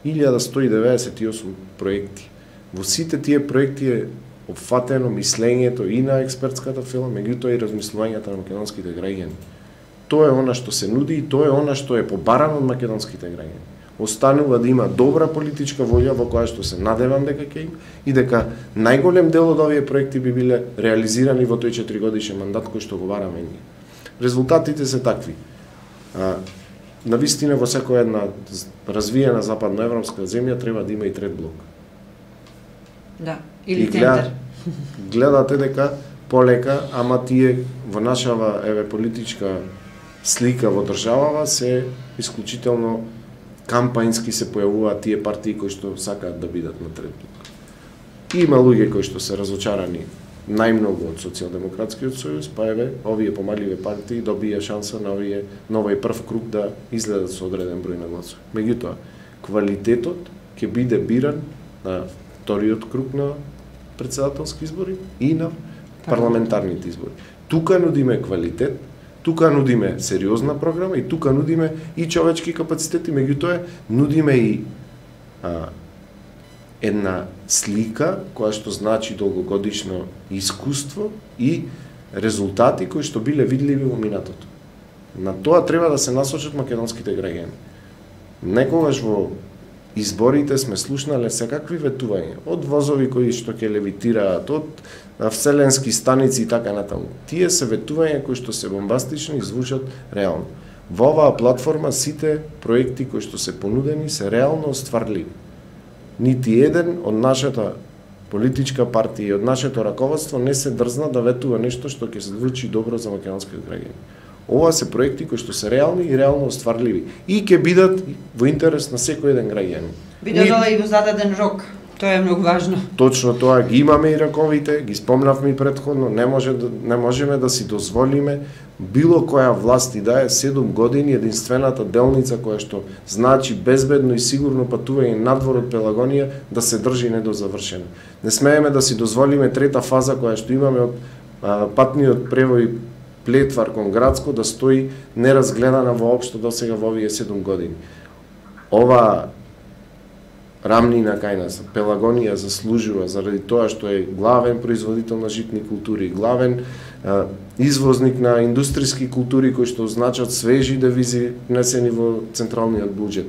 илјада сто и деветдесет и осум проекти. Во сите тие проекти е опфатено мислењето и на експертската фила, меѓутоа и размислувањата на македонските граѓани. Тоа е она што се нуди и тоа е она што е побарано од македонските граѓани. Останува да има добра политичка волја во која што се надевам дека ќе има и дека најголем дел од овие проекти би биле реализирани во тој четиригодишен мандат кој што го бараме ние. Резултатите се такви. А, навистина во секоја една развиена западноевропска земја треба да има и трет блок. Да, или и центар. Гледате дека полека, ама тие во нашава еве политичка слика во државава се исклучително кампањски се појавуваат тие партии кои што сакаат да бидат на трет блок. Има луѓе кои што се разочарани најмногу од Социјалдемократскиот сојуз, па еве овие помаливе партии добија шанса на овие на овој прв круг да излезат со одреден број на гласови. Меѓутоа, квалитетот ќе биде биран на вториот круг на претседателски избори и на парламентарните избори. Тука нудиме квалитет, тука нудиме сериозна програма и тука нудиме и човечки капацитети, меѓутоа нудиме и а, една слика која што значи долгогодишно искуство и резултати кои што биле видливи во минатото. На тоа треба да се насочат македонските граѓани. Некогаш во изборите сме слушнале секакви ветувања, од возови кои што ќе левитираат, од вселенски станици и така натаму. Тие се ветувања кои што се бомбастични и звучат реално. Во оваа платформа сите проекти кои што се понудени се реално остварливи. Нити еден од нашата политичка партија и од нашето раководство не се дрзна да ветува нешто што ќе се звучи добро за македонските граѓани. Ова се проекти кои што се реални и реално остварливи и ќе бидат во интерес на секој еден граѓанин. Би додала и во зададен рок. Тоа е многу важно. Точно тоа, ги имаме и раковите, ги спомнавме и претходно, не може да, не можеме да си дозволиме било која власт и да е седум години единствената делница која што значи безбедно и сигурно патување надвор од Пелагонија да се држи недозавршена. Не смееме да си дозволиме трета фаза која што имаме од а, патниот превој Плетвар кон Градско да стои неразгледана воопшто досега во овие седум години. Ова рамнина кај нас, Пелагонија заслужува заради тоа што е главен производител на житни култури, главен а, извозник на индустријски култури кои што значат свежи девизи внесени во централниот буџет.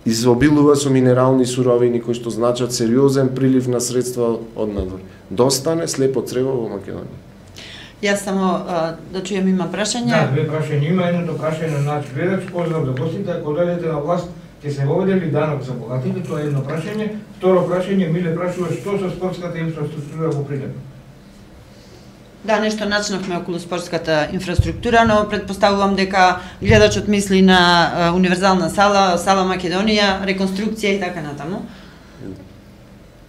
Изобилува со минерални суровини кои што значат сериозен прилив на средства од надвор. Достане слепо црево во Македонија. Јас само а, да чујам има прашање. Да, две прашања има, едното прашање на наш гледач, поздрав до гостите, ако дојдете на власт, ќе се воведе ли данок за богатите, тоа е едно прашање. Второ прашање, Миле прашува што со спортската инфраструктура во Прилеп? Да, нешто начнавме околу спортската инфраструктура, но предпоставувам дека гледачот мисли на а, универзална сала, сала Македонија, реконструкција и така натаму.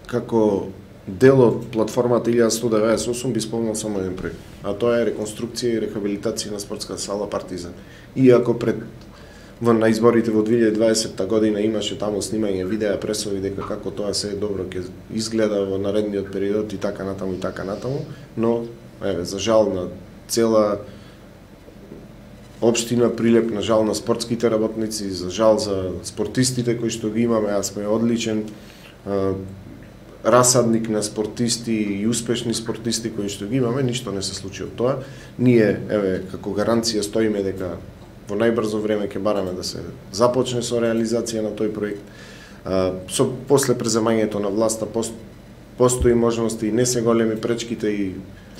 Како дел од платформата илјада сто деветдесет и осум би спомнал само еден проект, а тоа е реконструкција и рехабилитација на спортска сала Партизан. Иако пред во на изборите во две илјади и дваесетта година имаше таму снимање видеа, пресови дека како тоа се е добро ќе изгледа во наредниот период и така натаму и така натаму, но еве за жал на цела општина Прилеп, на жал на спортските работници, за жал за спортистите кои што ги имаме, а сме одличен а, расадник на спортисти и успешни спортисти кои што ги имаме, ништо не се случи од тоа. Ние, еве, како гаранција стоиме дека во најбрзо време ќе бараме да се започне со реализација на тој проект. А, со после преземањето на власта пост, постои можности и не се големи пречките и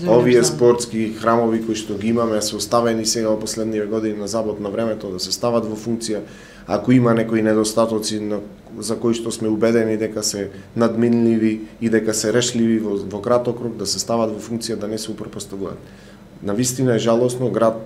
овие спортски храмови кои што ги имаме се оставени сега во последниве години на забот на времето да се стават во функција. Ако има некои недостатоци на, за кои што сме убедени дека се надминливи и дека се решливи во, во краток рок, да се стават во функција, да не се упропоставуваат. Навистина е жалосно град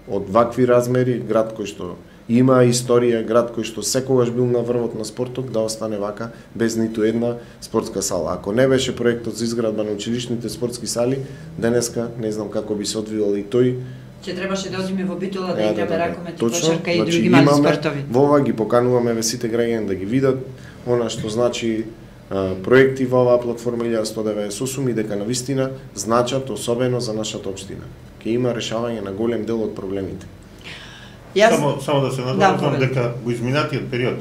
од вакви размери, град кој што има историја, град кој што секогаш бил на врвот на спортот, да остане вака без ниту една спортска сала. Ако не беше проектот за изградба на училишните спортски сали, денеска не знам како би се одвивал и тој. Ќе требаше да одиме во Битола да играме да, ракомет, точно, кошарка и значи, други мали имаме, спортови. Во ова ги покануваме ве сите граѓани да ги видат она што значи а, проекти во оваа платформа илјада сто деветдесет и осум и дека навистина значат особено за нашата општина. Ке има решавање на голем дел од проблемите. Јас... Само, само да се надоврзам да, дека во изминатиот период,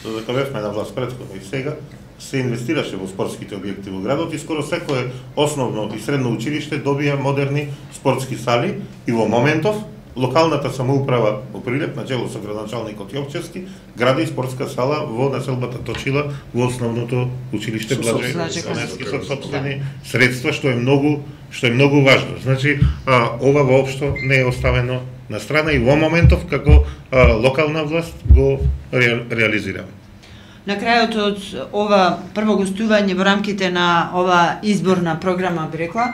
додека бевме на власт претходно и сега, се инвестираше во спортските објекти во градот и скоро секое основно и средно училиште добија модерни спортски сали и во моментов локалната самоуправа во Прилеп, на чело со градоначалникот Јовчевски, гради спортска сала во населбата Точила во основното училиште Блажај Станевски со сопствени средства, што е многу што е многу важно. Значи, а, ова воопшто не е оставено на страна и во моментов како а, локална власт го ре, реализираме. На крајот од ова прво гостување во рамките на ова изборна програма, би рекла,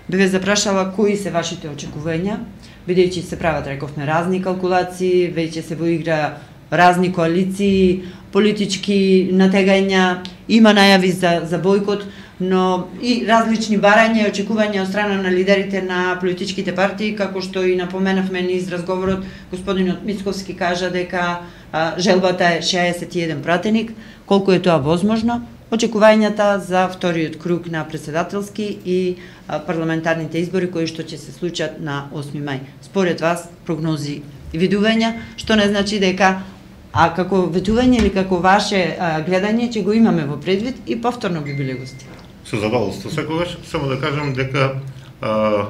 би ве запрашала кои се вашите очекувања, бидејќи се прават, рековме, разни калкулации, веќе се во игра разни коалиции, политички натегања, има најави за, за бојкот, но и различни барања и очекувања од страна на лидерите на политичките партии, како што и напоменавме низ разговорот, господинот Мицковски кажа дека а, желбата е шеесет и еден пратеник, колку е тоа возможно, очекувањата за вториот круг на претседателски и а, парламентарните избори кои што ќе се случат на осми мај. Според вас, прогнози и видувања, што не значи дека а како ветување или како ваше а, гледање ќе го имаме во предвид и повторно би биле гости. Со задоволство секогаш, само да кажам дека а,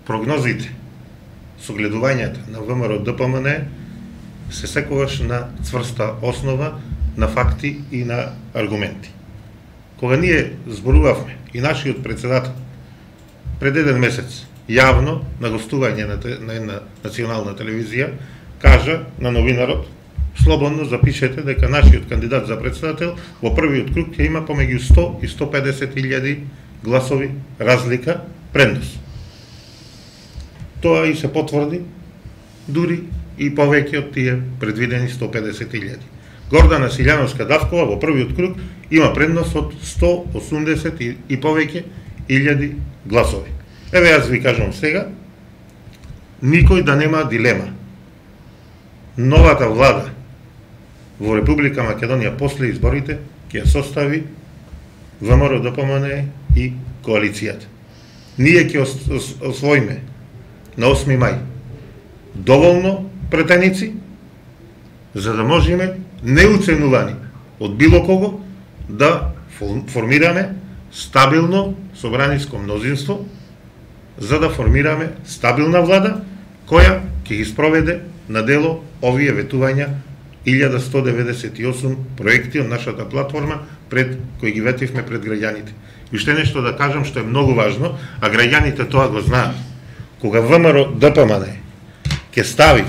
прогнозите, согледувањата на ВМРО Д П М Н се секогаш на цврста основа, на факти и на аргументи. Кога ние зборувавме и нашиот председател пред еден месец јавно на гостување на, на една национална телевизија кажа на новинарот: слободно запишете дека нашиот кандидат за председател во првиот круг ќе има помеѓу сто и сто педесет илјади гласови разлика предност. Тоа и се потврди, дури и повеќе од тие предвидени сто педесет илјади. Гордана Силјановска-Давкова во првиот круг има предност од сто осумдесет и, и повеќе илјади гласови. Еве јас ви кажам сега, никој да нема дилема. Новата влада во Република Македонија после изборите ќе ја состави ВМРО Д П М Н и коалицијата. Ние ќе освоиме на осми мај доволно претеници за да можеме неуценувани од било кого да формираме стабилно собраниско мнозинство, за да формираме стабилна влада која ќе ги спроведе на дело овие ветувања илјада сто деветдесет и осум проекти од нашата платформа пред кои ги ветивме пред граѓаните. И уште нешто да кажам што е многу важно, а граѓаните тоа го знаат. Кога ВМРО Д П М Н ќе стави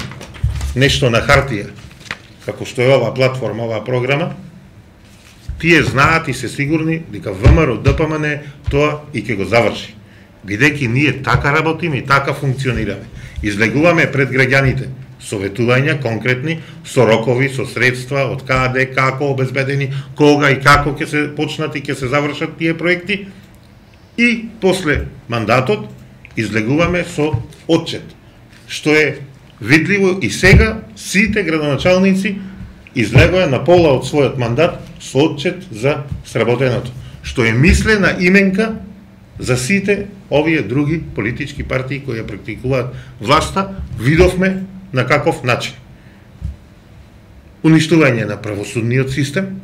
нешто на хартија, како што е оваа платформа, оваа програма, тие знаат и се сигурни дека ВМРО Д П М Н тоа и ќе го заврши. Бидејќи ние така работиме и така функционираме. Излегуваме пред граѓаните советувања конкретни, со рокови, со средства, од каде, како обезбедени, кога и како ќе се почнат и ќе се завршат тие проекти. И после мандатот излегуваме со отчет, што е видливо и сега сите градоначалници излегува на пола од својот мандат со отчет за сработеното, што е мислена именка за сите овие други политички партии кои ја практикуваат власта. Видовме на каков начин. Уништување на правосудниот систем.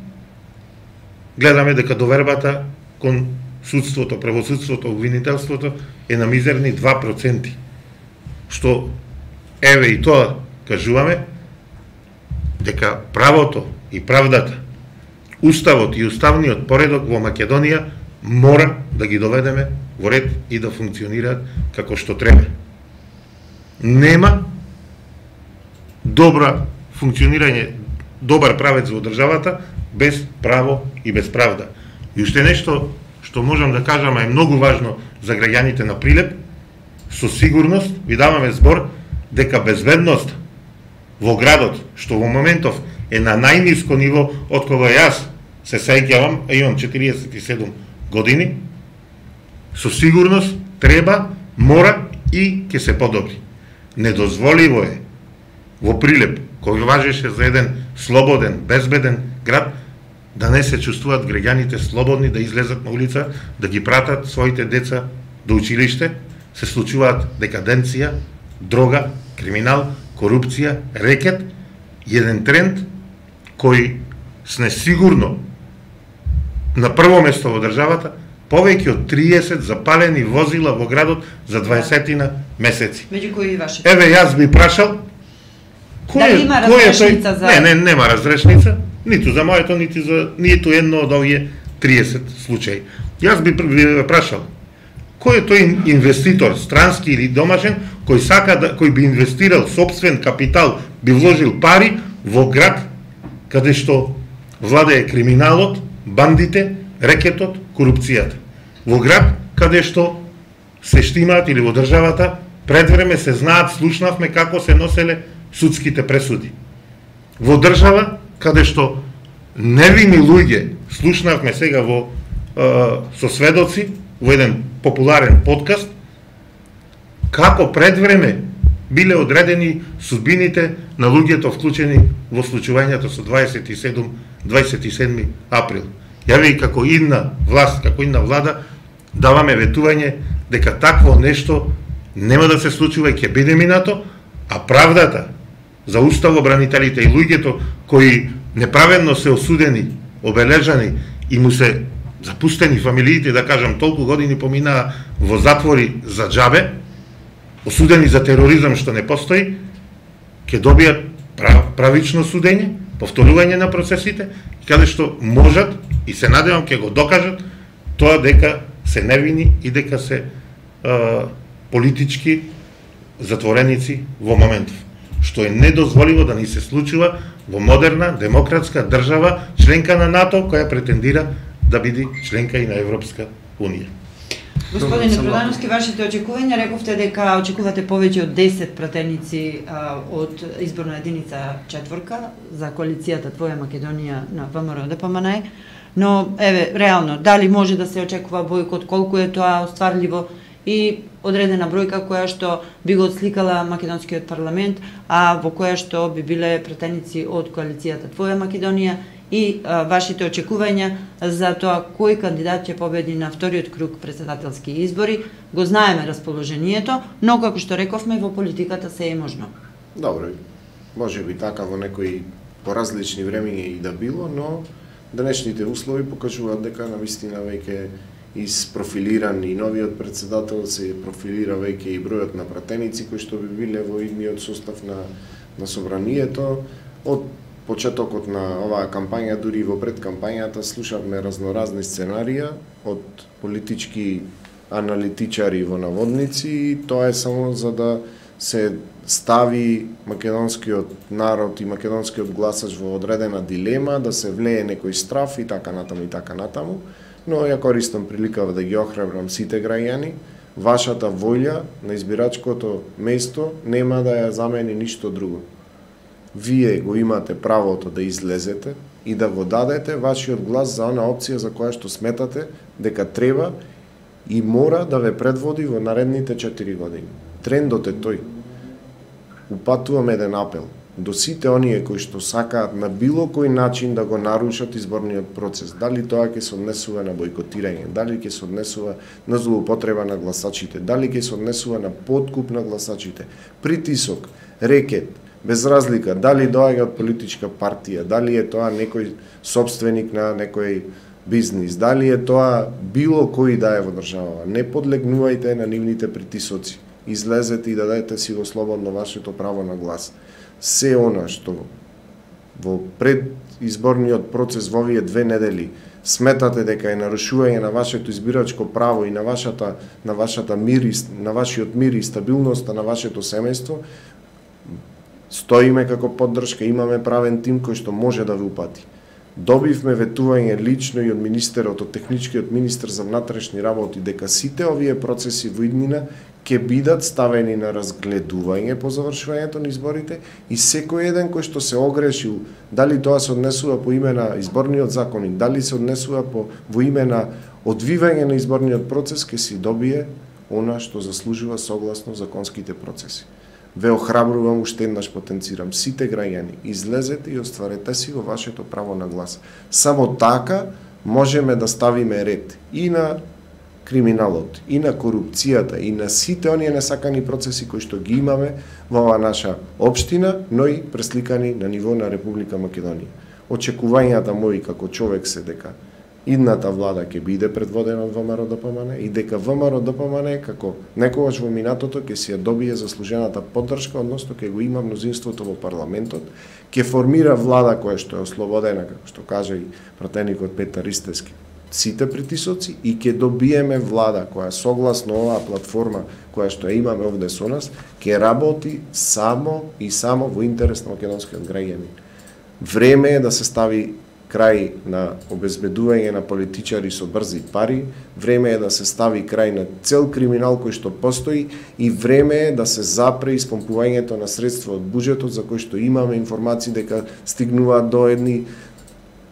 Гледаме дека довербата кон судството, правосудството, обвинителството е на мизерни два проценти. Што, еве и тоа кажуваме, дека правото и правдата, уставот и уставниот поредок во Македонија мора да ги доведеме во ред и да функционираат како што треба. Нема добра функционирање, добар правец во државата без право и без правда. И уште нешто што можам да кажам е многу важно за граѓаните на Прилеп, со сигурност ви даваме збор дека безбедност во градот, што во моментов е на најниско ниво од кога јас се сеќавам, а имам четириесет и седум години, со сигурност треба, мора и ќе се подобри. Недозволиво е во Прилеп, кој важеше за еден слободен, безбеден град, да не се чувствуваат граѓаните слободни да излезат на улица, да ги пратат своите деца до училиште, се случуваат декаденција, дрога, криминал, корупција, рекет, еден тренд кој сне сигурно на прво место во државата, повеќе од триесет запалени возила во градот за дваесет месеци. Меѓу кои и вашите? Еве, јас би прашал, кој Дали е, има кој е тој? разрешница за... Не, не, нема разрешница, ниту за моето, ниту за ниту едно од овие триесет случаи. Јас би би прашал, кој е тој инвеститор, странски или домашен, кој сака да, кој би инвестирал собствен капитал, би вложил пари во град каде што владее криминалот, бандите, рекетот, корупцијата. Во град каде што се штимаат или во државата пред време се знаат, слушнавме како се носеле судските пресуди. Во држава каде што невини луѓе, слушнавме сега во е, со сведоци во еден популарен подкаст, како пред време биле одредени судбините на луѓето вклучени во случувањето со дваесет и седум, дваесет и седми април. Јави како идна власт, како идна влада, даваме ветување дека такво нешто нема да се случува и ќе биде минато, а правдата за уставобранителите и луѓето кои неправедно се осудени, обележани и му се запустени фамилиите, да кажам, толку години поминаа во затвори за џабе, осудени за тероризам што не постои, ќе добијат прав, правично судење, повторување на процесите, каде што можат и се надевам ќе го докажат тоа дека се невини и дека се е, политички затвореници во моментов, што е недозволиво да ни се случува во модерна, демократска држава, членка на НАТО, која претендира да биде членка и на Европска Унија. Господине Продановски, вашите очекувања, рековте дека очекувате повеќе од десет пратеници а, од изборна единица четворка за коалицијата Твоја Македонија на ВМРО Д П М Н, но еве реално дали може да се очекува бојкот, колку е тоа остварливо и одредена бројка која што би го отсликала македонскиот парламент, а во која што би биле пратеници од коалицијата Твоја Македонија и а, вашите очекувања за тоа кој кандидат ќе победи на вториот круг претседателски избори. Го знаеме расположението, но како што рековме во политиката се е можно. Добро, може би така во некои поразлични времиња и да било, но денешните услови покажуваат дека навистина веќе isprofiliran и новиот председател, се профилира веќе и бројот на пратеници кои што би биле во идниот состав на, на собранието. Од почетокот на оваа кампања, дури во предкампањата, слушавме разноразни сценарија од политички аналитичари во наводници, и тоа е само за да се стави македонскиот народ и македонскиот гласач во одредена дилема, да се влее некој страф и така натаму и така натаму. Но ја користам приликава да ги охрабрам сите граѓани вашата волја на избирачкото место нема да ја замени ништо друго. Вие го имате правото да излезете и да го дадете вашиот глас за она опција за која што сметате дека треба и мора да ве предводи во наредните четири години. Трендот е тој. Упатувам еден апел до сите оние кои што сакаат на било кој начин да го нарушат изборниот процес, дали тоа ќе се однесува на бойкотирање, дали ќе се однесува на злоупотреба на гласачите, дали ќе се однесува на подкуп на гласачите, притисок, рекет, без разлика дали доаѓа од политичка партија, дали е тоа некој собственик на некој бизнис, дали е тоа било кој да е во државава, не подлегнувајте на нивните притисоци. Излезете и дадете си го слободно вашето право на глас. Се она што во предизборниот процес во овие две недели сметате дека е нарушување на вашето избирачко право и на вашата на вашата мир, на вашиот мир и стабилноста на вашето семејство, стоиме како поддршка, имаме правен тим кој што може да ве упати. Добивме ветување лично и од министерот, од техничкиот министер за внатрешни работи, дека сите овие процеси во иднина ќе бидат ставени на разгледување по завршувањето на изборите и секој еден кој што се огрешил, дали тоа се однесува по име на изборниот законник, дали се однесува по во име на одвивање на изборниот процес, ќе си добие она што заслужува согласно законските процеси. Ве охрабрувам, уште еднаш потенцирам, сите граѓани, излезете и остварете си го вашето право на глас. Само така можеме да ставиме ред и на криминалот, и на корупцијата, и на сите оние несакани процеси кои што ги имаме во оваа наша општина, но и пресликани на ниво на Република Македонија. Очекувањата мои како човек се дека идната влада ќе биде предводена од ВМРО-ДПМН и дека ВМРО-ДПМН како некогаш во минатото ќе си ја добие заслужената поддршка, односно ќе го има мнозинството во парламентот, ќе формира влада која што е ослободена, како што кажа и пратеникот Петар Ристевски, сите притисоци и ќе добиеме влада која согласно оваа платформа која што ја имаме овде со нас, ќе работи само и само во интерес на македонскиот граѓанин. Време е да се стави крај на обезбедување на политичари со брзи пари, време е да се стави крај на цел криминал кој што постои и време е да се запре испомпувањето на средства од буџетот за кој што имаме информации дека стигнуваат до едни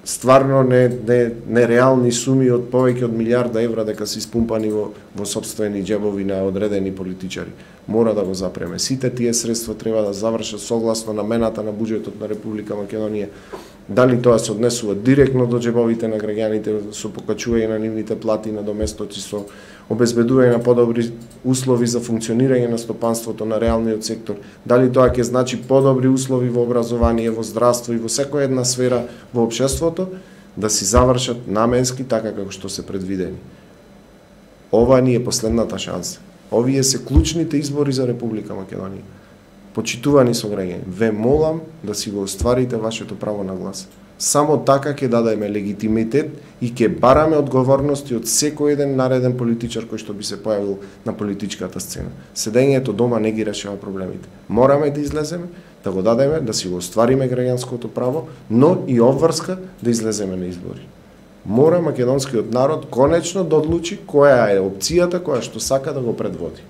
стварно не, не, нереални суми од повеќе од милиарда евра дека се испумпани во, во собствени џебови на одредени политичари. Мора да го запреме. Сите тие средства треба да завршат согласно намената на буџетот на Република Македонија. Дали тоа се однесува директно до џебовите на граѓаните со покачување на нивните плати на доместоци, со обезбедување на подобри услови за функционирање на стопанството на реалниот сектор, дали тоа ќе значи подобри услови во образование, во здравство и во секоја една сфера во општеството, да си завршат наменски така како што се предвидени. Ова ни е последната шанса. Овие се клучните избори за Република Македонија. Почитувани сограѓани, ве молам да си го остварите вашето право на глас. Само така ќе дадеме легитимитет и ќе бараме одговорности од секој еден нареден политичар кој што би се појавил на политичката сцена. Седењето дома не ги решава проблемите. Мораме да излеземе, да го дадеме, да си го оствариме граѓанското право, но и обврска да излеземе на избори. Мора македонскиот народ конечно да одлучи која е опцијата која што сака да го предводи.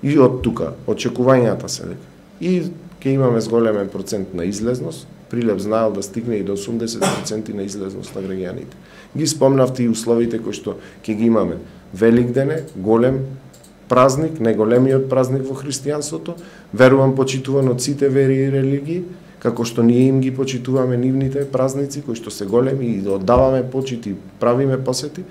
И од тука очекувањата се дека и ќе имаме зголемен процент на излезност, Прилеп знаел да стигне и до осумдесет проценти на излезност на граѓаните. Ги спомнавте и условите кои што ќе ги имаме. Великден е голем празник, најголемиот празник во христијанството, верувам почитуван од сите вери и религии, како што ние им ги почитуваме нивните празници кои што се големи и да оддаваме почит и правиме посети,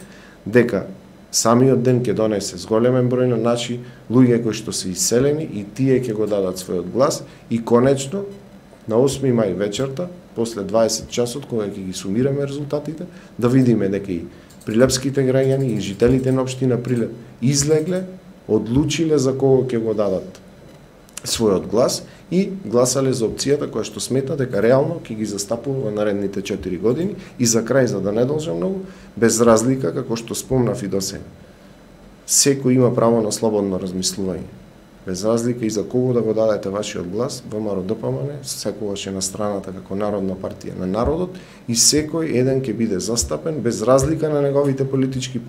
дека самиот ден ќе донесе зголемен број на наши луѓе кои што се иселени и тие ќе го дадат својот глас и конечно на осми мај вечерта, после дваесет часот, кога ќе ги сумираме резултатите, да видиме дека и прилепските граѓани и жителите на општина Прилеп излегле, одлучиле за кого ќе го дадат својот глас и гласале за опцијата која што смета дека реално ќе ги застапува во наредните четири години и за крај, за да не должам многу, без разлика, како што спомнав и досега. Секој има право на слободно размислување. Без разлика и за кого да го дадете вашиот глас, ВМРО-ДПМН секогаш е на страната како народна партија на народот и секој еден ќе биде застапен без разлика на неговите политички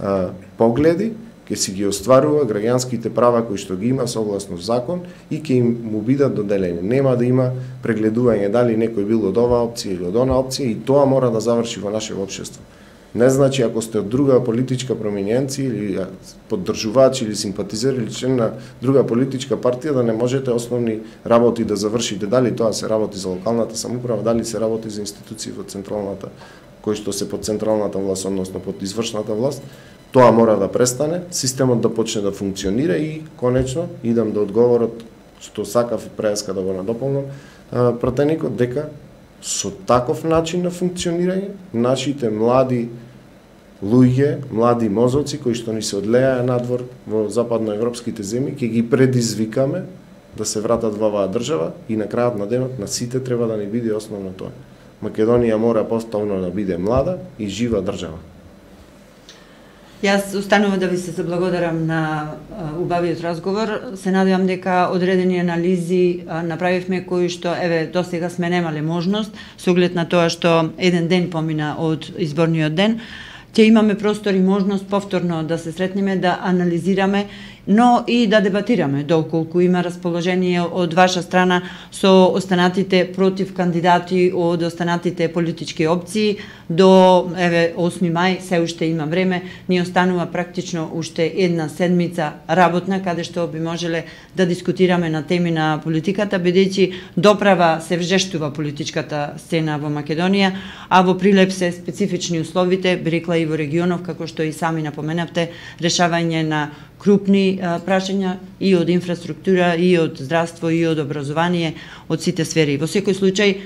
а, погледи, ќе си ги остварува граѓанските права кои што ги има согласно закон и ќе им му бидат доделени. Нема да има прегледување дали некој бил од оваа опција или од онаа опција и тоа мора да заврши во наше општество. Не значи ако сте од друга политичка проминенција или поддржувач или симпатизер или член на друга политичка партија да не можете основни работи да завршите, дали тоа се работи за локалната самоуправа, дали се работи за институции во централната, кои што се под централната власт, односно под извршната власт. Тоа мора да престане, системот да почне да функционира и конечно идам да одговорот што сакав преска да го надополнам пратеникот дека со таков начин на функционирање нашите млади луѓе, млади мозоци кои што ни се одлеја надвор во западноевропските земји, ќе ги предизвикаме да се вратат во оваа држава и на крајот на денот на сите треба да ни биде основно тоа. Македонија мора повторно да биде млада и жива држава. Јас останувам да ви се заблагодарам на убавиот разговор. Се надевам дека одредени анализи направивме кои што еве досега сме немале можност со оглед на тоа што еден ден помина од изборниот ден. Ќе имаме простор и можност повторно да се сретнеме, да анализираме, но и да дебатираме доколку има расположение од ваша страна со останатите против кандидати од останатите политички опции. До еве осми мај се уште има време, ни останува практично уште една седмица работна каде што би можеле да дискутираме на теми на политиката, бидејќи доправа се вжештува политичката сцена во Македонија, а во Прилеп се специфични условите, би рекла и во регионов, како што и сами напоменавте, решавање на крупни а, прашања и од инфраструктура, и од здравство, и од образование, од сите сфери. Во секој случај,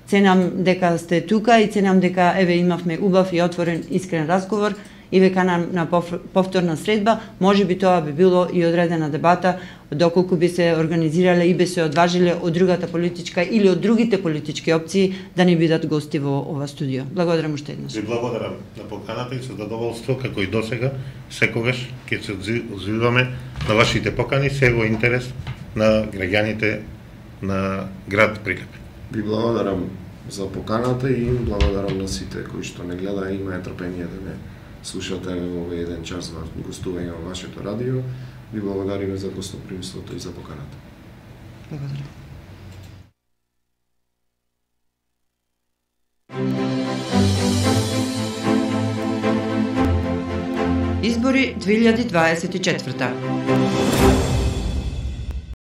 ценам дека сте тука и ценам дека еве имавме убав и отворен искрен разговор и ве канам на повторна средба. Може би тоа би било и одредена дебата доколку би се организирале и би се одважиле од другата политичка или од другите политички опции да ни бидат гости во ова студио. Благодарам уште еднаш. Ви благодарам на поканата и со задоволство како и досега секогаш ќе се одзиваме на вашите покани се во интерес на граѓаните на град Прилеп. Ви благодарам за поканата и благодарам на сите кои што не гледа и имаат трпение да ме слушате во овој еден час во гостување во вашето радио. Ви благодариме за гостопримството и за поканата. Благодарам. Избори две илјади дваесет и четврта.